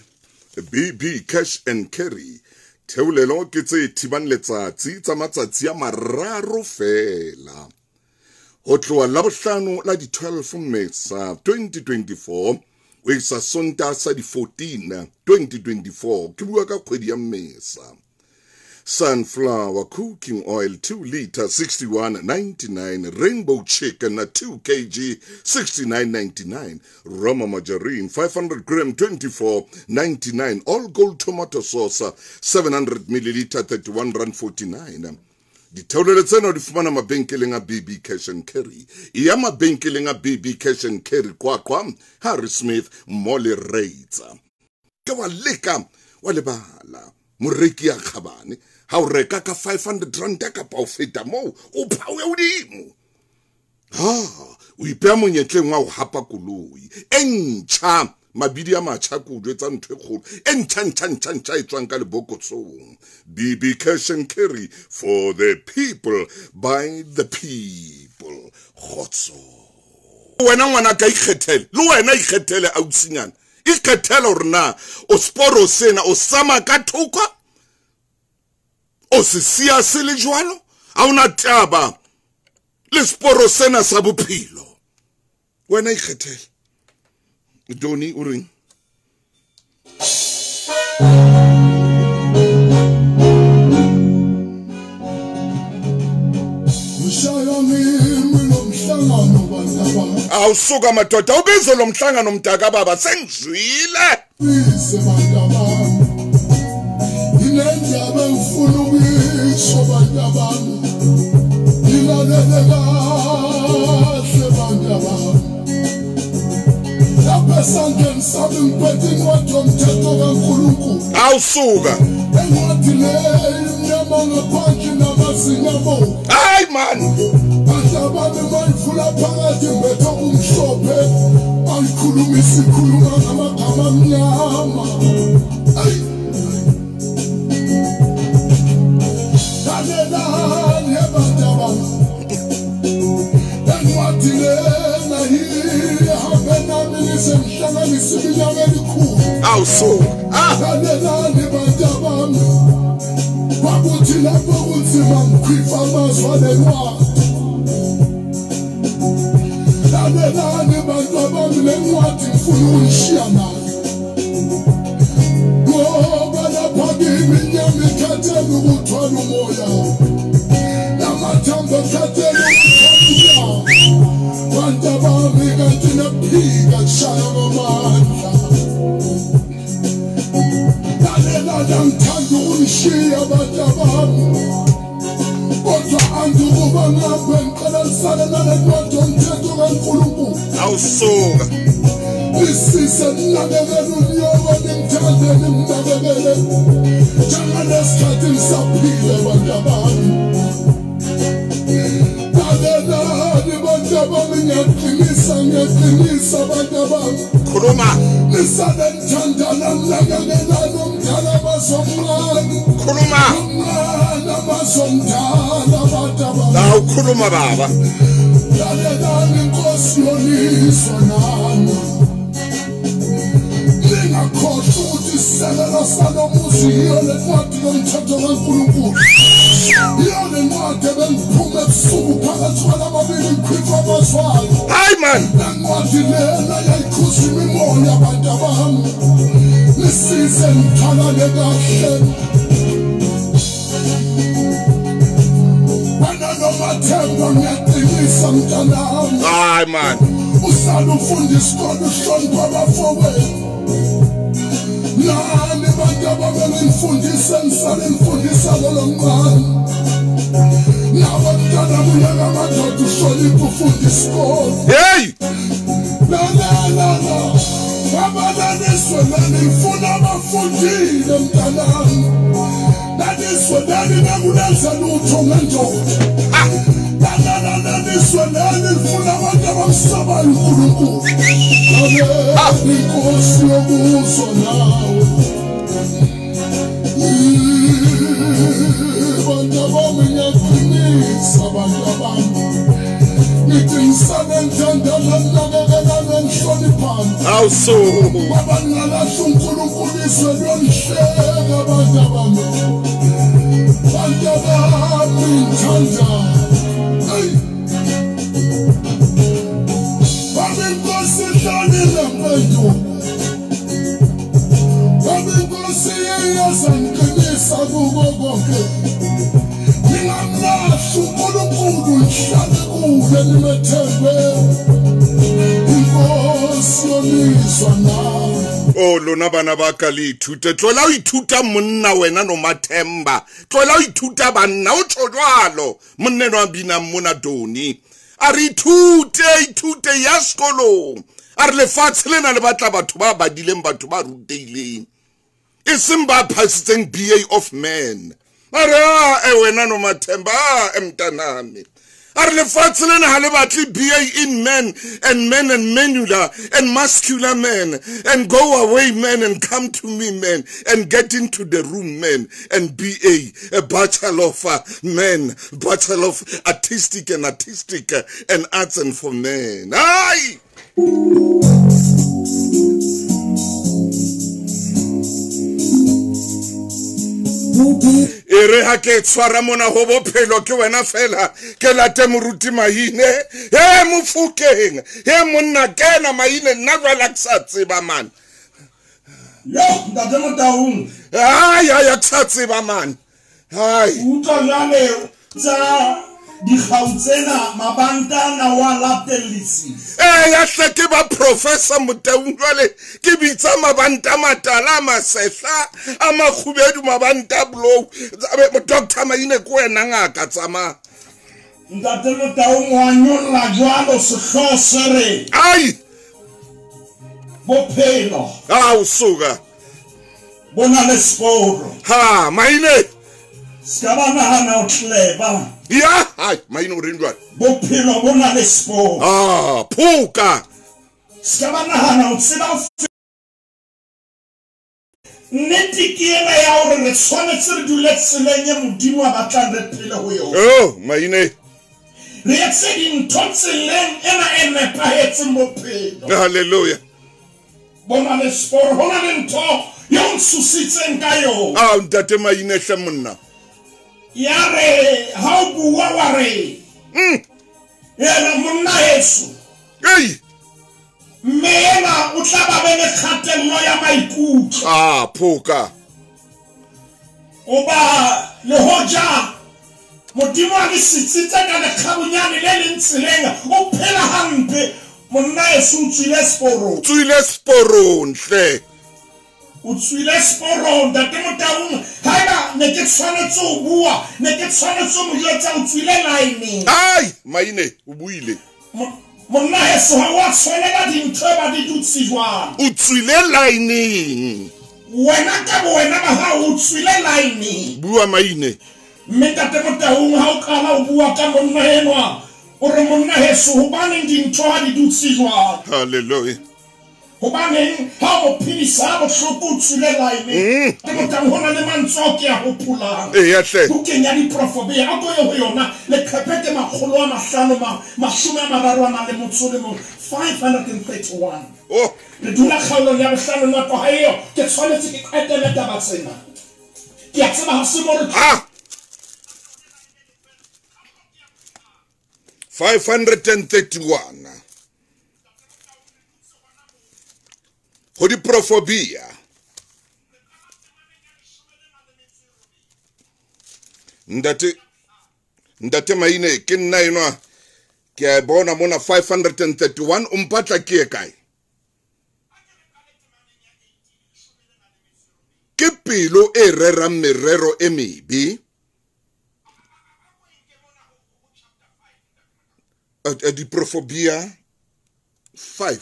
BB Cash and Carry theolelo ke tse thibang letsatsi tsa matsatsi a mararo fela. Ho tloha Labohlano la di 12 Mmesa 2024 ho isa Sontaha sa di 14 2024, ke bua ka kgwedi ya Mmesa. Sunflower cooking oil 2 liter 61.99, rainbow chicken 2 kg 69.99, Roma margarine 500 gram 24.99, all gold tomato sauce 700 milliliter 31.49. Ditheolelo tsena di fumana mabenkeleng a BB Cash and Carry. E ya mabenkeleng a BB Cash and Carry Qwaqwa, Harry Smith, Molly Reitz. Ke wa leka wa lebala moreki ya kgabane, ha o reka ka 500 rand kapa o feta moo, o phawe hodimo. Ha o ipeha monyetleng wa ho hapa koloi e ntjha, mabidi a matjha ke o jwetsa ntho e kgolo e ntjha ntjha ntjha ntjha e tswang ka lebokosong. BB Cash and Carry, for the people, by the people. Kgotso. Wena ngwana ka ikgethele, le wena ikgethele ausinyana. Ikgethele hore na o sporo sena o sama ka thoko, o se siya se le jwalo, ha ona taba le sporo sena sa bophelo. Wena ikgethele. Doni o reng? Awusuka madoda, ubizo lo mhlangano mntaka baba, sengizwile. Awusuka. Hayi man. Awusuka. Awusuka. Khuluma. Khuluma. La ukhuluma baba. Hayi man. Hayi man. Nani bantu ababenifundisa ngisanifundisa lolo mncane. Nawe mntana buyela amadoda uhloniphe ufunde isikole. Hey! Na na na na. Abananizwe nanifuna abafundile mntanami. Nanizwe nani nakunenza lutho ngendoda. Nanizwe nani nifuna abantu abamsabayo uNkulunkulu. Inkosi yokuzwa nawe. Bantu bami ngiyaqinisa bantu bami. Ngithi ngisanenthandana ninakekelana nihloniphana. Awuso. Baba ngingalahla uNkulunkulu izwe liyonihleka bantu bami. Bantu bami ngithanda. Hey. Baba inkosi ihlalile mfethu. Baba inkosi iyazangiqinisa kuko konke. Ningamlahli uNkulunkulu nihlale kuye nimethembe. Inkosi yomizwa nawe. Oh lona bana ba ka le ithute. Tlohela ho ithuta monna wena no Mathemba. Tlohela ho ithuta banna o tjho jwalo. Monna enwa a binang mona Doni. A re ithute, ithute ya sekolong. A re lefatshe lena le batla batho ba badileng, batho ba rutehileng. E seng ba phasitseng BA of men. A re a wena no Mathemba, a mntanami. A re lefatshe lena ha le batle BA in men and men and menular and muscular men and go away men and come to me men and get into the room men and BA, a bachelor of men, bachelor of artistic and artistic and arts and for men. Ai! E re ha ke tshwara mona ho bophelo ke wena fela ke late moruti Maine. He mofokeng, he monna kena Maine nna jwale ke sa tseba man. Yo ntate Motaung. Ai ai ke sa tseba man. Ai. Utlwa jwale tsa dikgau tsena mabantana wa latellisisa. Ya hle ke ba professor Motaung jwale ke bitsa mabanta matala masehla a makgubedu mabanta blow. Dr. Maine ke wena ngaka tsamaya. Ntate Motaung wa nyolla jwalo sehlooho se re. Ai! Bophelo. Ao suka. Bona le sporo. Ha, Maine. Ska ba nahana o tleba. Ya, hai, Maine o reng jwale? Bophelo bo na le sporo. Ah, phoka. Ska ba nahana o tseba nnete ke ena ya hore re tshwanetse re dule tseleng e Modimo a batlang re phele ho yona. Oh, Maine. Re etse dintho tseleng ena e nepahetseng bophelo. Hallelujah. Bona le sporo, ho na le ntho eo ntsositseng ka yona. Ah, ntate Maine hle monna. Ya re ha o bua wa re. Yena monna heso. Ei. Mme ena o tla ba be le kgatello ya maikutlo. Ah, phoka. O ba le hoja Modimo a le sitsitse ka lekgabunyane le leng tseleng, o phela hampe. Monna heso o tswile seporong. Tswile seporong hle. O tswile seporong ntate Motaung. Haeba ne ke tshwanetse ho bua, ne ke tshwanetse ho mo jwetsa o tswile line. Ai, Maine o buile. Monna heso ha wa tshwanela dintho ba di dutse jwang. O tswile line. Wena ka bo wena ba hao o tswile line. Bua Maine. Mme ntate Motaung ha o qala o bua ka monna enwa, o re monna heso hobaneng dintho ha di dutse jwang. Hallelujah. Hobaneng ha o phedisa bohloko o tswile line. Ke Motaung ho na le mantswe ao ke a hopolang. Eya hle. Bukeng ya diprofobia a ko ye ho yona leqephe ke 531 531. Oh. Re dula kgaolong ya bohlano nako ha eo ke tshwanetse ke qetele taba tsena. Ke a tseba ha se mo re 531. Ho diprofobia. Ntate Maine ke nna enwa ke a bona mona 531 o mpatla ke e kae? pelo e rerang merero e mebe. Diprofobia 5.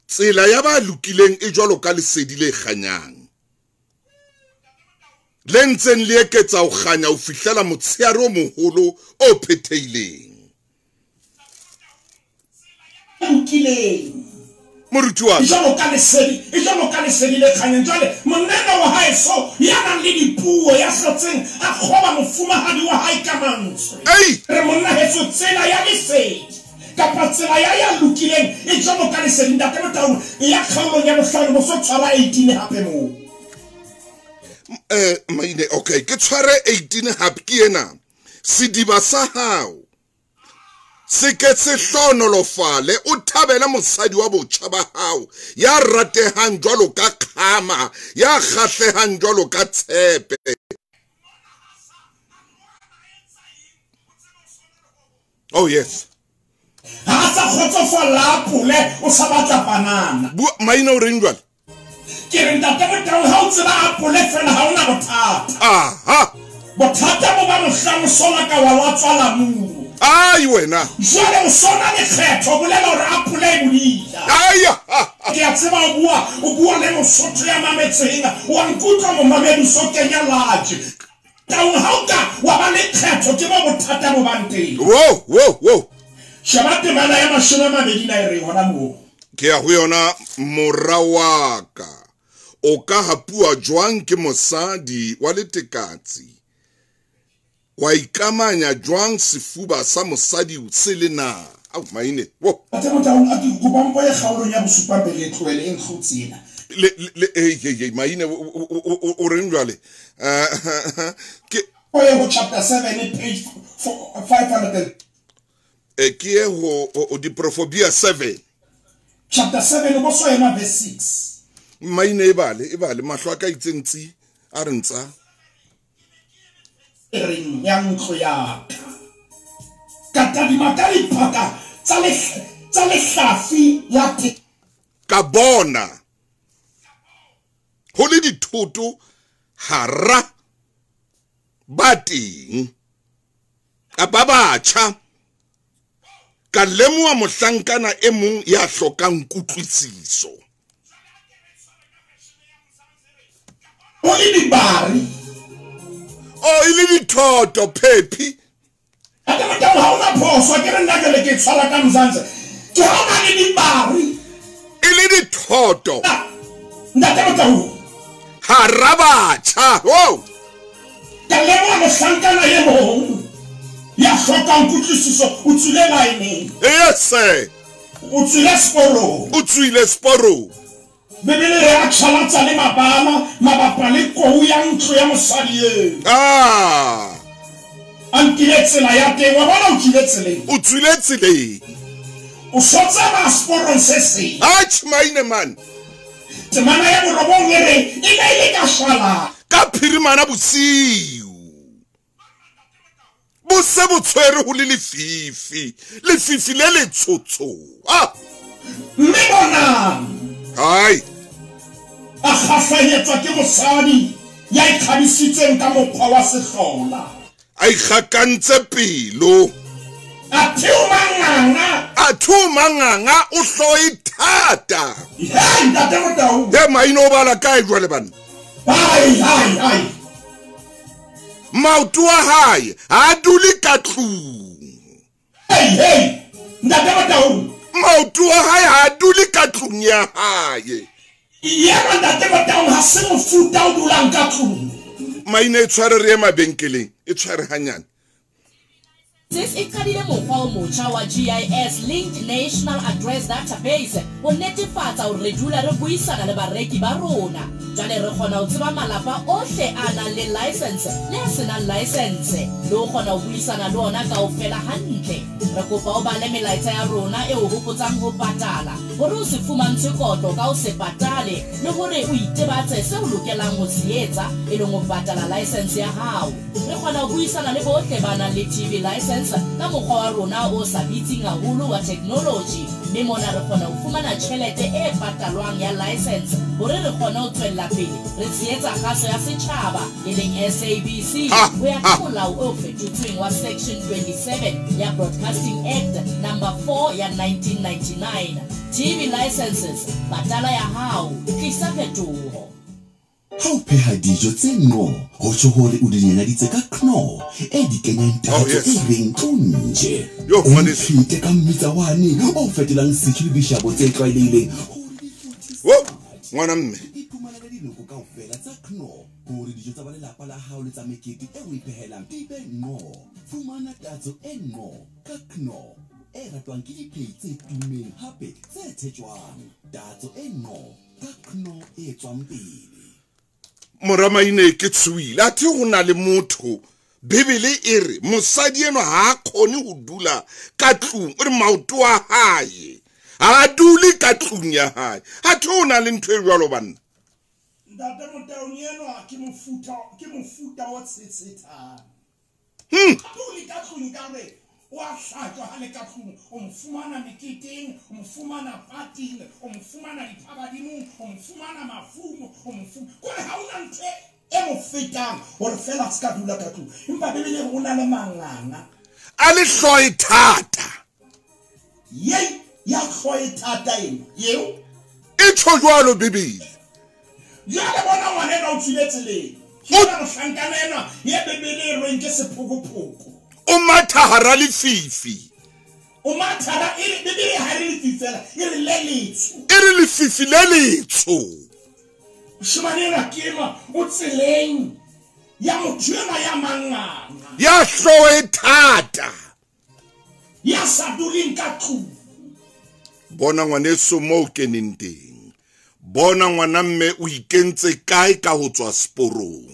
Tsela ya ba lokileng e jwalo ka lesedi le kganyang, le ntseng le eketsa ho kganya ho fihlela motsheare o moholo o phethehileng. Lokileng moruti wa ka, jwalo ka lesedi, e jwalo ka lesedi le kganyang. Jwale monna wa hae so ya nang le dipuo, ya hlotseng a kgoba mofumahadi wa hae ka mantswe. Re monna heso, tsela ya lesedi kapa tsela ya lokileng e jwalo ka lesedi. Ntate Motaung, ya kgaolong ya bohlano, bo so tshwara 18 hape moo. Maine, okay, ke tshware 18 hape ke ena. Sediba sa hao se ke se hlohonolofale, o thabele mosadi wa botjha ba hao, ya ratehang jwalo ka kgama, ya kgahlehang jwalo ka tshepe. Oh yes. Ha sa kgotsofalla apole, o sa batla banana. Maine o reng jwale? Ke re ntate Motaung, ha o tseba apole fela ha ona bothata. Aha. Bothata bo ba mohlang o sola ka wa tswala muru. Ai wena. Jwale o sona lekgetho, bolela hore apole e bodila. Ai. Ke a tseba o bua le Mosotho ya mametseng, wa nkutlwa momamedi so kenya laje. Taung ha o ka wa ba lekgetho, ke mo bothata bo bang teng. Wo wo wo. Sheba temana ya 22 na e re hona moo. Ke ya ho yona, mora wa ka, o ka hapuwa jwang ke mosadi wa letekatsi, wa ikamanya jwang sefuba sa mosadi se le na? Au maine. Wo. Ntate Motaung, a ke kopa mpo e kgaolong ya bosupa pele e tlohele e ntlotse ena. Le maine o reng jwale? Ke o ye ho chapter 7 page 500. Ke ye ho Diprofobia 7. Chapter 7 bo so ema verse 6. Maine e bale mahlo a ka itseng tsi a re ntsa. Reng ya ntlo ya ka. Ka tadima ka diphaka tsa lehlafi ya te. Ka bona ho le dithoto hara ba teng kapa batjha, ka lemoha mohlankana e mong ya hlokang kutlwisiso. O le dibari. O e le dithoto phephi. Ate Motaung, ha ona phoso, ke re nna jwale ke tshwara ka Mzansi. Ke ha ona le dibari. E le dithoto. Ntate Motaung. Hara batjha. Oh. Ka lemoha mohlankana e mong ya hlokang kutlwisiso, o tswile line. Yes sir. O tswile seporong. O tswile seporong. Bibele re a tjhalatsa le mabala mabapa le kou ya ntlo ya mosadi eo. Ah. A nkile tsela ya teng, wa bona o tswile tseleng. O tswile tseleng. O so tsamaya seporong se seng. Atjhe maine man. Temana ya borobong e re e ne e le ka shwala. Ka phirimana bosiu. Bo se bo tshwere ho le lefifi. Lefifi le letshotsho. Ah. Mme bonang. Ai. A kgahlanyetswa ke mosadi ya ikgabisitseng ka mokgwa wa sehlola. A ikgakantse pelo. A theoma nganga. A theoma nganga, o hloe thata. Hei, ntate Motaung. He maine o bala kae jwale bana? Ai ai ai. Maoto a hae ha dule ka tlung. Hei hei, ntate Motaung. Maoto a hae ha dule ka tlung ya hae. Yena ntate Motaung ha se mofuta o dulang ka tlung. Maine e tshware re ye mabenkeleng, e tshware hanyane. GIS e qadile mokgwa o motjha wa GIS Linked National Address Database ho netefatsa hore re dula re buisana le bareki ba rona. Jwale re kgona ho tseba malapa ohle a nang le license le a senang license, le ho kgona ho buisana le ona kaofela hantle. Re kopa o bale melaetsa ya rona e o hopotsang ho patala, hore o se fumantshwe kotlo ka ho se patale, le hore o itebatse seo o lokelang ho se etsa e leng ho patala license ya hao. Re kgona ho buisana le bohle ba nang le TV license license ka mokgwa wa rona o sa bitseng haholo wa technology, mme mona re kgona ho fumana tjhelete e patalwang ya license hore re kgone ho tswella pele re tshehetsa kgaso ya setjhaba e leng SABC ho ya ka molao o fetotsweng wa Section 27 ya Broadcasting Act Number 4 ya 1999. TV licenses, patala ya hao, tlisa phetoho. Ha o pheha dijo tse nno, ho tjho hore o di nyanaditse ka Knorr e di kenyang tatso e reng tlo nje. Yo, O ngwaneso. mphete ka mmitsa wane o fetolang setjhu le dishabo tse tlwaelehileng hore di futhise Wo, ngwana mme. Iphumanele dinoko kaofela tsa Knorr hore dijo tsa ba lelapa la hao le tsa mekete e o e phehelang di be nno. Fumana tatso e nno ka Knorr e ratwang ke diphehi tse tummeng hape tse tshetjwang. Tatso e nno ka Knorr e tswang pele. Mora Maine ke tshohile, athe ho na le motho. Bibele e re mosadi enwa ha a kgone ho dula ka tlung, o re maoto a hae ha a dule ka tlung ya hae. Athe ho na le ntho e jwalo banna. Ntate Motaung enwa ke mofuta, ke mofuta o tshetshethang. Dule ka tlung ka re o a hlatswa ha le ka tlung, o mo fumana meketeng, o mo fumana pating, o mo fumana diphabadimong, o mo fumana mafung, o mo kore ha hona ntho e mo fetang hore fela a se ka dula ka tlung. Empa Bibele e re o na le manganga. A le hlooho e thata. Yei, ya hlooho e thata ena, eo. E tjho jwalo Bibele. Jwale bona ngwana enwa o tswile tseleng. Ke yena mohlankana enwa ye Bibele e reng ke sephokophoko. O matha hara lefifi. O matha hara, e re, Bibele ha e re lefifi fela, e re le letsho. E re lefifi le letsho. Moshemane enwa ke enwa o tseleng ya motho enwa ya manganga. Ya hlooho e thata. Ya sa duleng ka tlung. Bona ngwaneso moo o keneng teng. Bona ngwana mme o ikentse kae ka ho tswa seporong.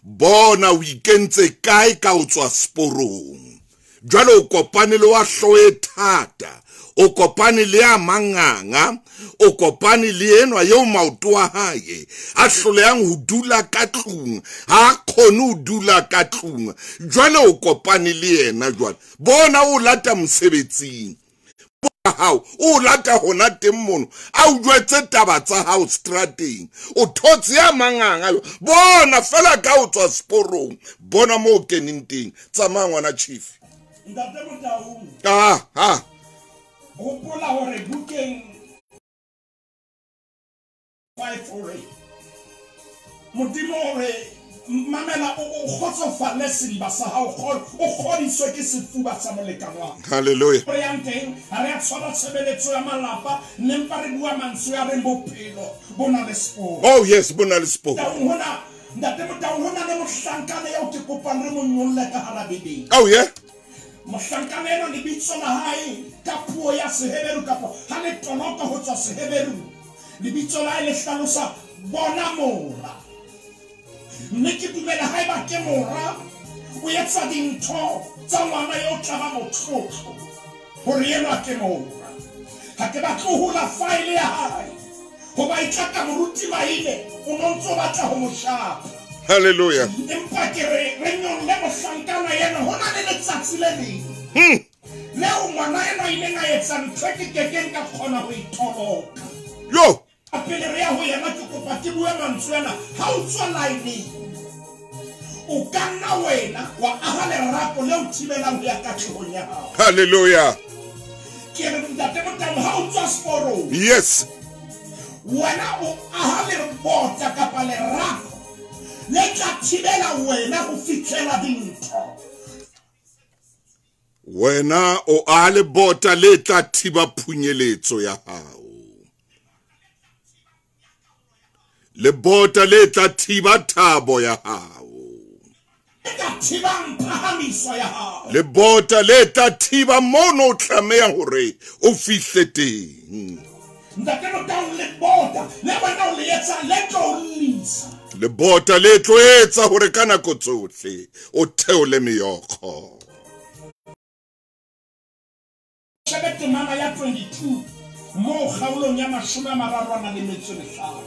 Bona o ikentse kae ka ho tswa seporong. Jwale o kopane le wa hlooho e thata, o kopane le ya manganga, o kopane le enwa eo maoto a hae a hlolehang ho dula ka tlung, ha a kgone ho dula ka tlung. Jwale o kopane le yena jwale. Bona o lata mosebetsing hao, o lata hona teng mono, a o jwetse taba tsa hao strateng, o thotse ya manganga yo. Bona fela ka o tswa seporong, bona moo o keneng teng. Tsamaya ngwana chief. Ntate Motaung. Ha. Hopola hore bukeng 5:8 Modimo o re mamela, o kgotsofalle sediba sa hao, o kgodiswe ke sefuba sa molekane wa hao. Hallelujah. Re yang teng, ha re a tshwara tshebeletso ya malapa, ne mpa re bua mantswe a reng bophelo bo na le seporo. Oh yes, bo na le seporo. Taung hona, Ntate Motaung, hona le mohlankana eo ke kopang re mo nyolle ka hara Bibele. Oh yeah. Mohlankana enwa lebitso la hae ka puo ya Seheberu kapa ha le toloka ho tswa Seheberu, lebitso la hae le hlalosa bona mora. Mme ke dumela haeba ke mora, o etsa dintho tsa ngwana eo tla ba motlotlo hore enwa ke mora. Ha ke batle ho hula faele ya hae hoba e tla ka moruti Maine, o no ntso batla ho mo shapa. Hallelujah. Empa ke re, re nyolle mohlankana ena, ho na le letsatsi le leng. Leo ngwana enwa a ileng a etsa ntho e ke kekeng ka kgona ho e toloka. Yo. Pele re ya ho yena, ke kopa ke bue mantswe ana. Ha o tswa line, o ka nna wena wa aha lerapo le o thibelang ho ya katlehong ya hao. Hallelujah. Ke re Ntate Motaung, ha o tswa seporong, Yes. wena o aha lebota kapa lerako le tla thibela wena ho fihlela dintho. Wena o aha lebota le tla thiba phunyeletso ya hao. Lebota le tla thiba thabo ya hao. Le tla thibang phahamiso ya hao. Lebota le tla thiba mono o tlameha hore o fihle teng. Ntate Motaung, lebota le wena o le etsa le tlo o llisa. Lebota le tlo etsa hore ka nako tsohle o theole meokgo. Shebe temana ya 22 moo kgaolong ya 35.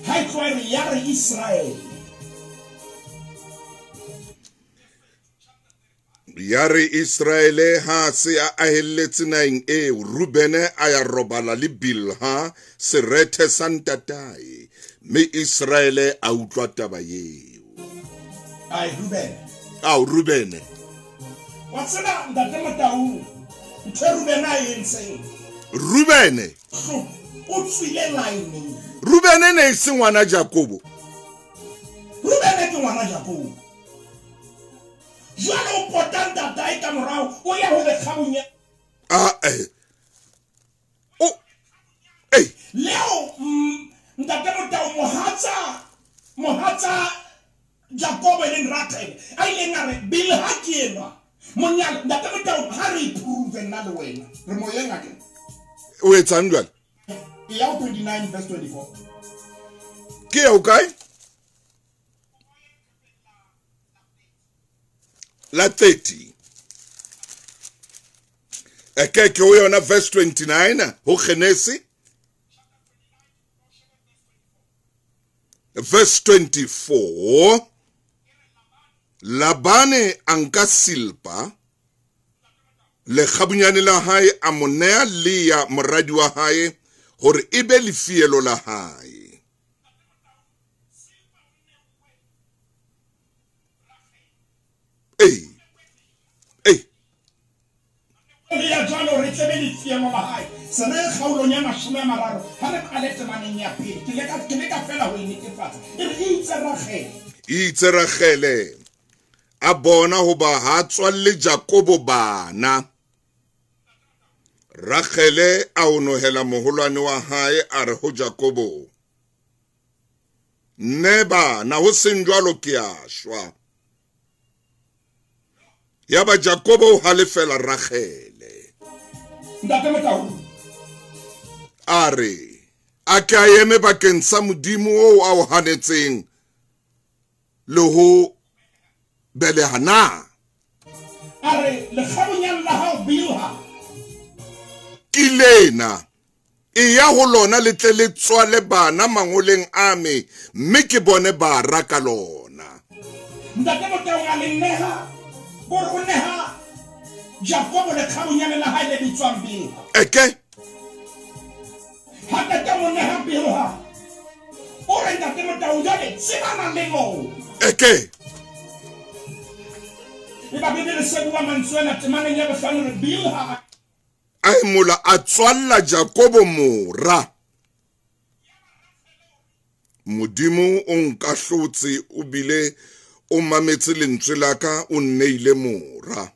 Ha e tloha e re ya re Israel. Yare Israele ha se a ahelletse naheng eo, Rubene a ya robala le Bilha serethe sa ntatae, mme Israele a utlwa taba eo. Ai Rubene. Ao Rubene. Wa tseba ntate Motaung, ntho e Rubene a e entseng. Rubene. O tswile line. Rubene ne e se ngwana Jakobo. Rubene ke ngwana Jakobo. Jwale o pota ntatae ka morao, o ya ho lekgabunya. Ah eh. O eh. Leo ntate Motaung mohatsa Jakobo e leng Rachel a ileng a re Bilha ke enwa monyalo. Ntate Motaung ha re iprove nna le wena re moyeng a ke o etsang jwale? E ya 29 verse 24. Ke ya o kae? La 30. Eke ke o yona verse 29 ho Genesi. Verse 24. Labane a nka Silpa lekgabunyane la hae a mo nea Lea moradi wa hae hore e be lefielo la hae. Ei ei Lea jwalo re tlebe lefielo la hae. Se re kgaolong ya 30 ha re qale temaneng ya pele. Ke leka fela ho e netefatsa. E re itse Rachele. A bona hoba ha tswalle Jakobo bana. Rachele a onohela moholwane wa hae a re ho Jakobo, nne bana ho seng jwalo ke a shwa. Yaba Jakobo o halefela Rachele. Ntate Motaung. A re a ke a eme bakeng sa Modimo oo a o hanetseng le ho beleha na. A re lekgabunyane la hao Bilha ke lena, e ya ho lona le tle le tswale bana mangoleng a me, mme ke bone bara ka lona. Ntate Motaung a le neha, gore o neha Jakobo lekgabunyane la hae le bitswang Bilha. Eke ha ntate mo neha Bilha, o re ntate Motaung jwale tsebana le moo. Eke e ba Bibele se bua mantswe ana temaneng ya bohlano re Bilha a emola a tswalla Jakobo mora. Modimo o nkahlotse o bile o mametse lentswe la ka, o nneile mora.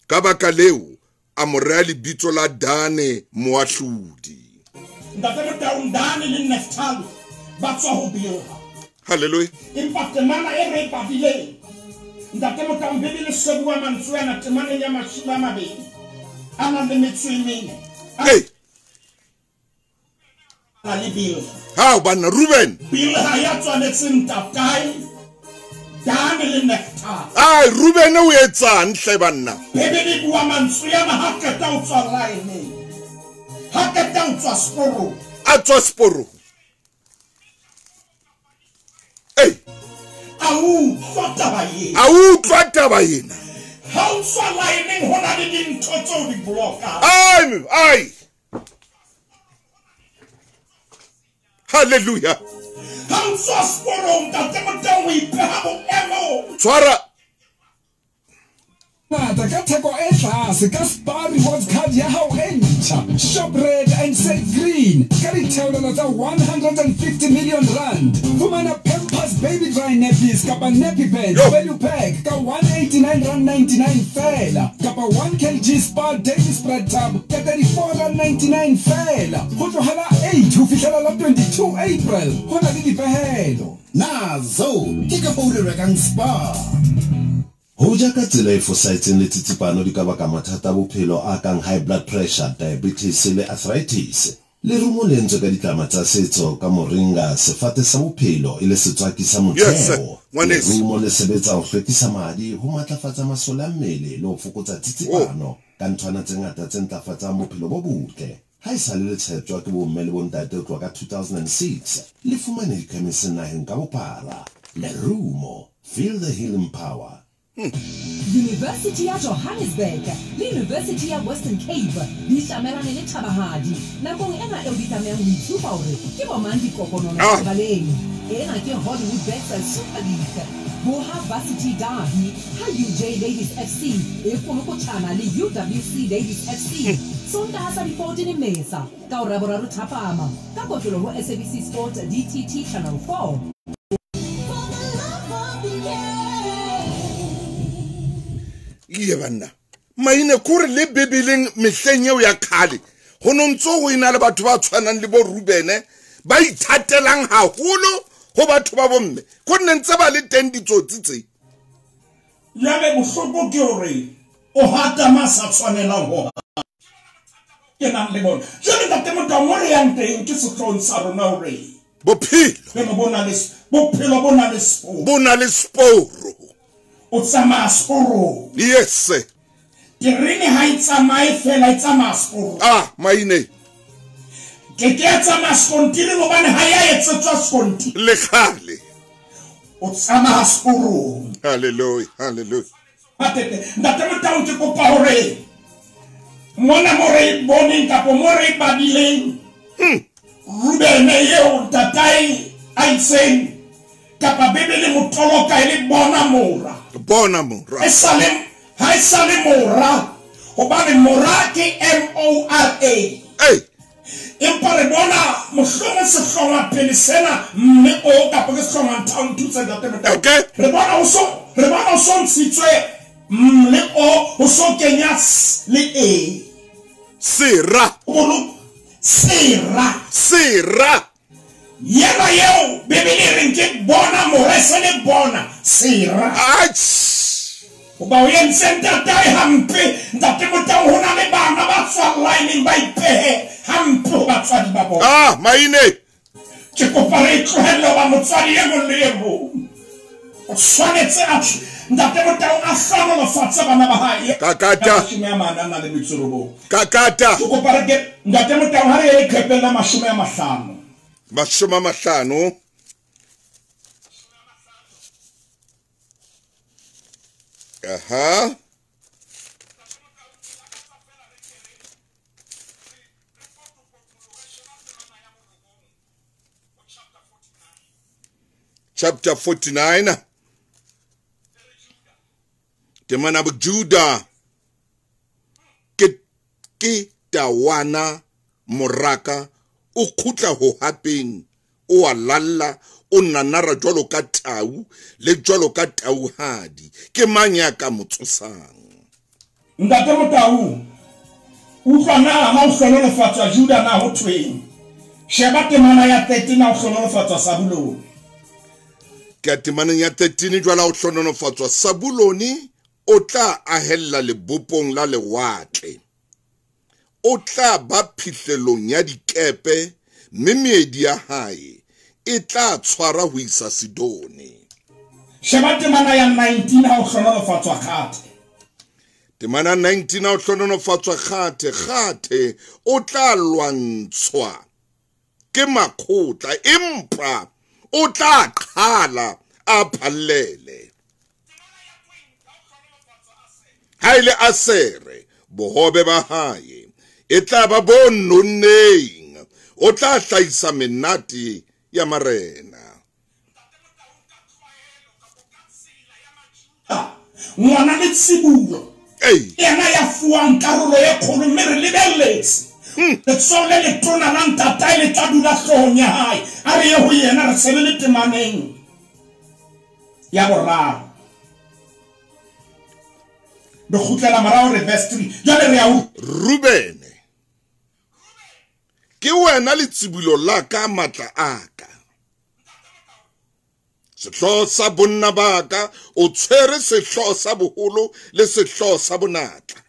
Ka baka leo a mo rea lebitso la Dane moahlodi. Ntate Motaung, Dane le Naftali ba tswa ho Bilha. Hallelujah. Empa temana e re badileng ntate Motaung, Bibele se bua mantswe ana temaneng ya 20 a nang le metso e mene. Hey. A le Bilha. Ha banna Ruben. Bilha ya tswaletseng ntatae Dane le Naftali. Ai Ruben o etsang hle banna? Bibele bua mantswe ana ha qeta o tswa line. Ha qeta o tswa sporong. A tswa sporong. Ei. A utlwa taba ena. A utlwa taba ena. Ha o tswa line ho na le dintho tseo di blokang. Ai ai. Hallelujah. Ha o tswa sporong ntate Motaung o ipeha boemong. Tshwara. Ngata ka theko e tlase ka Spar Rewards Card ya hao e ntjha. Shop red and save green ka ditheolelo tsa 150 million rand. Fumana Pampers baby dry nappies kapa nappy pads value pack ka 189.99 fela, kapa 1 kg Spar daily spread tub ka 34.99 fela. Ho tloha la 8 ho fihlela la 22 April. Ho na le dipehelo. Nazo ke ka foo re rekang Spar. Ho ja ka tsela e fosahetseng le tsitsipano di ka baka mathata a bophelo a kang high blood pressure, diabetes le arthritis. Lerumo le entswe ka ditlama tsa setso ka moringa, sefate sa bophelo e le setswaki sa motheo. Lerumo le sebetsa ho hlwekisa madi, ho matlafatsa masole a mmele le ho fokotsa tsitsipano ka nthwana tse ngata tse ntlafatsang bophelo bo botle. Ha esale le tsheptjwa ke bomme le bontate ho tloha ka 2006, le fumane dikhemiseng naheng ka bophara. Lerumo, feel the healing power. University ya Johannesburg le University ya Western Cape di tlamelane le thabahadi nakong ena eo di tlamehang ho itshupa hore ke bomang dikokonono lebaleng. Ena ke Hollywoodbets Super League. Boha Varsity Derby ha UJ Ladies FC e kolokotjhana le UWC Ladies FC Sontaha sa di 14 Mmesa ka hora ya boraro thapama ka kotlolo ho SABC Sport DTT Channel 4. Iye banna maine kore le Bibeleng mehleng eo ya kgale ho no ntso ho ena le batho ba tshwanang le bo Rubene ba ithatelang haholo ho batho ba bomme ko nne ntse ba le teng ditsotsi tse. Jwale bohloko ke hore o hata ma sa tshwanelang ho ke nang le bona. Jwale ntate Motau mo re yang teng ke sehloohong sa rona hore bophelo bo na le bophelo bo na le sporo, bo na le sporo, o tsamaya sporong. Yes, terene ha e tsamaye fela, e tsamaya sporong. Ah maine ke ke ya tsamaya sekontiri hobane ha ya etsetswa sekontiri le kgale, o tsamaya sporong. Hallelujah, hallelujah. Ntate Motau ke kopa hore mona mo re boneng kapa mo re badileng Rubene eo ntatae a itseng kapa Bibele motoloka e le bona mora, bona mora ha e sale mora, hobane mora ke M-O-R-A. Empa re bona mohlomong sehlongwa pele sena mme o kapa ke sehlongwa nthao nthuse ntate Motau. Re bona o so ntshitswe m le o, ho so kenya s le e. Sera. Sera. Sera. Yena eo Bibele e reng ke bona mora, e se le bona sera. Hoba o entse ntatae hampe, ntate Motau ho na le bana ba tswang lineng ba ipehe hampe ho batswadi ba bona. Ah maine ke kopa re tlohelle hoba motswadi e mong le e mong o tshwanetse a ntate Motau a hlohonolofatse bana ba hae. Kakata. 49. Kakata. Ke kopa re ke ntate Motau ha re ye leqhepeng la 50. 50. Aha. Chapter 49. Temana Juda ke tawana moraka o khutla ho hapeng o a lalla o nanara jwalo ka tau le jwalo ka tauhadi ke mang ya ka mo tsosang. Ntate Motau utlwa na ha o hlonolofatswa Juda na ho thweng? Sheba temana ya 13 ha o hlonolofatswa Sabulone. Ka temaneng ya 13 jwala o hlonolofatswa Sabulone o tla ahella lebopong la lewatle, o tla ba phihlelong ya dikepe mme meedi ya hae e tla tshwara ho isa Sidone. Sheba temana ya 19 ha o hlonolofatswa Kgathe. Temana 19 ha o hlonolofatswa Kgathe, Kgathe o tla lwantshwa ke makgotla empa o tla qhala a phallele. Ha ile Asere bohobe ba hae e tla ba bo nonneng, o tla hlahisa menate ya marena. Ngwana le tsibulo yena ya fuwang karolo e kgolo mme re lebelletse letsoho le letona la ntatae le tla dula hloohong ya hae. A re ye ho yena re sebe le temaneng ya boraro. Re kgutlela morao re verse 3. Jwale re ya ho Rubene ke wena letsibolo la ka matla a ka, sehlooho sa bonna ba ka, o tshwere sehlooho sa boholo le sehlooho sa bonatla.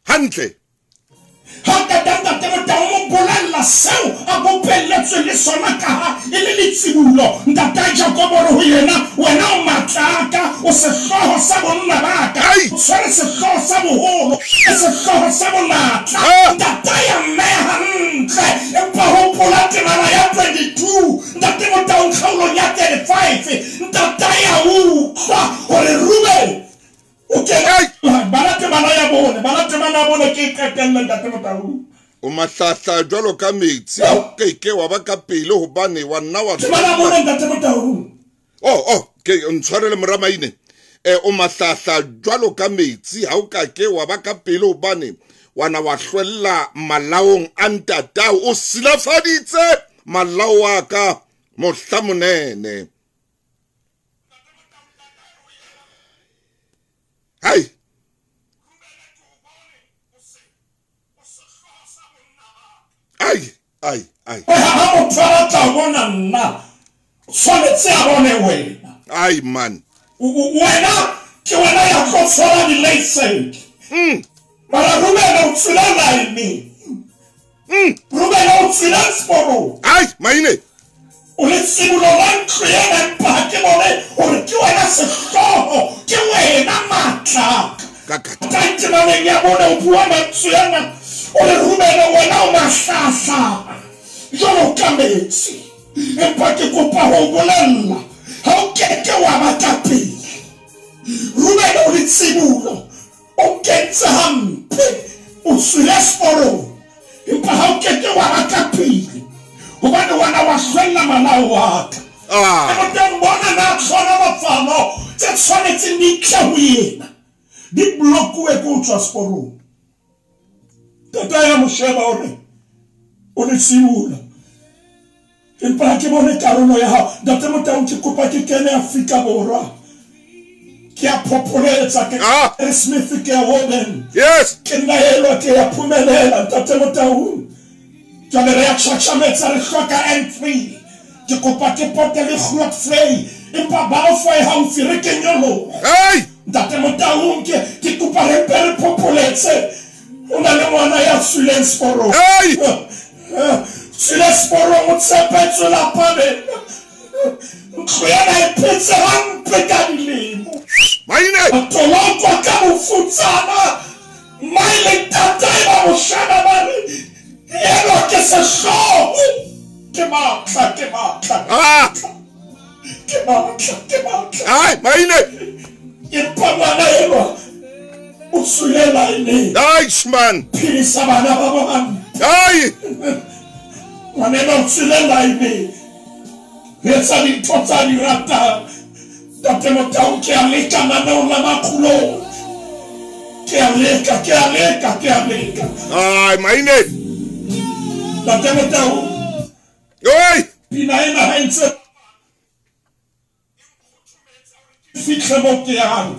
Hantle. Ha ntate Motau mo bolella seo a bopelletswe le sona ka ha e le letsibulo. Ntate Jakobo re ho yena, wena o matlaka, o sehlooho sa bonna ba ka, o tshwere sehlooho sa boholo, sehlooho sa bonatla. Ntate ya mmeha hantle, empa hopola temana ya 22, Ntate Motau kgaolong ya 35, ntate ya utlwa hore Ruben o kena. Bala temana ya bone, bala temana ya bone ke qetelle Ntate Motau. O mahlahla jwalo ka metsi, ha o keke wa ba ka pele hobane wa nna wa temana bone Ntate Motau. Oh, ke ntshwarele moramaine. O mahlahla jwalo ka metsi, ha o kake wa ba ka pele hobane wa na wa hlwella malaong a ntatao, o silafaditse malao a ka mohla monene. Hai. Ai, ai, ai. Ha motho a batla ho bona nna, tshwanetse a bone wena. Ai man. Wena ke wena ya tlo tshwara di-license. Mara Ruben o tswile line. Ruben o tswile seporong. Ai, maine. O letsibulo la ntlo ena, empa ha ke bone hore ke wena sehlooho, ke wena matla. Ka temaneng ya bone o bua mantswe ana, o re Ruben wena o mahlahla jwalo ka metsi, empa ke kopa ho bolella ha o keke wa ba ka pele. Ruben o letsibulo, o kentse hampe, o tswile seporong, empa ha o keke wa ba ka pele hobane wena wa hlwella malao wa ka. O teng bona na tlhonolofalo tse tshwanetseng di tle ho yena di blokuwe ke ho tswa seporong. Tata ya mo sheba o re o letsibulo, empa ha ke bone karolo ya hao. Ntate Motau ke kopa ke kene Afrika Borwa, ke a phopholetsa, ke Smith, ke a Woden. Yes. Ke nna elwa, ke a phumelela Ntate Motau. Jwale re ya tjhatjhametsa, re hloka N3. Ke kopa ke pote le Grootvlei, empa Balfour e haufi, re ke nyoloha. Hey! Ntate Motau ke kopa re mpe re phopholetse. O na le ngwana ya tswileng seporong. Hey! Tswile seporong, o tshepetswe lapa lena. Ntlo ena e phetse hampe ka dilemo. Maine! A tolokwa ka bofutsana. Mmae le ntatae ba mo sheba ba re, enwa ke sehlooho. Ke matla, ke matla. Ke matla, ke matla. Ai, maine! Empa ngwana enwa o tswile line. Nice man. Phedisa bana ba bo hampe. Ai! Ngwana enwa o tswile line. Re etsa dintho tsa di ratang. Ntate Motau ke a leka naneong la makgulong. Ke a leka, ke a leka, ke a leka. Ai, maine! Ntate Motau. Oi! Pina ena ha e ntse fitlhe mo ke yang.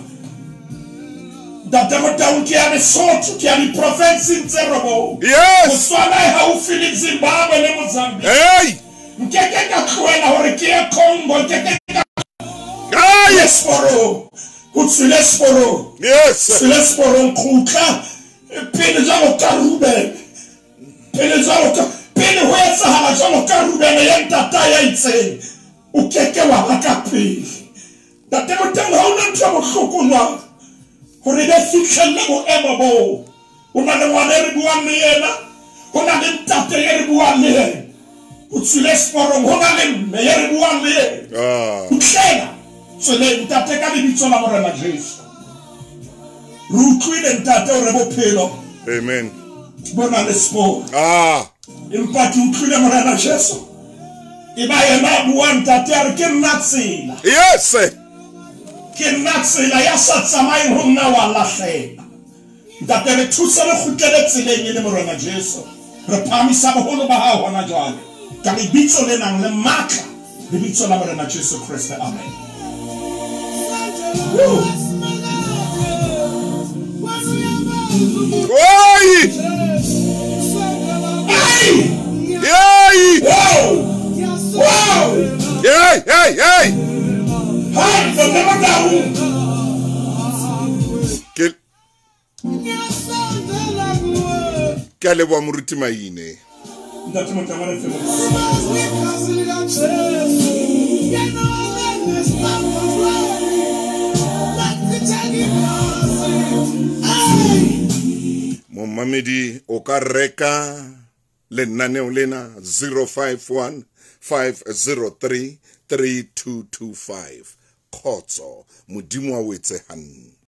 Ntate Motau ke ya Lesotho, ke ya diprofenseng tse robong. Yes. Botswana e haufi le Zimbabwe le Mozambique. Hey! Nkeke ka tlohela hore ke ye Congo, nkeke ka Ai! seporong. O tswile seporong. Yes. Tswile seporong, kgutla pele jwalo ka Ruben. Pele jwalo ka pele ho etsahala jwalo ka Ruben ya ntata ya itseng, o keke wa ba ka pele. Ntate Motau ha ona ntho e bohloko jwalo hore be fihlelle boemo boo. O na le ngwana e re buang le yena, ho na le ntate e re buang le yena. O tswile seporong, ho na le mme e re buang le yena. Kgutlela tseleng ntate ka lebitso la Morena Jesu. Re utlwile ntate hore bophelo, Amen, bo na le seporo. Empa ke utlwile Morena Jesu e ba yena a buang ntate a re ke nna tsela. Yes. Ke nna tsela, ya sa tsamayeng ho nna wa lahleha. Ntate re thuse re kgutlele tseleng e le Morena Jesu. Re phahamisa boholo ba hao hona jwale ka lebitso le nang le matla, lebitso la Morena Jesu Kreste. Amen. Woo. Oi! Hey! Hey! Wow! Wow! Hey, hey, hey! Hey, Ntate Motau. Ke Ke a leboha moruti Maine. Ntate Motama re fe Momamedi o ka reka lenaneo lena 051 503 3225. Khotso, Modimo a o etse hantle.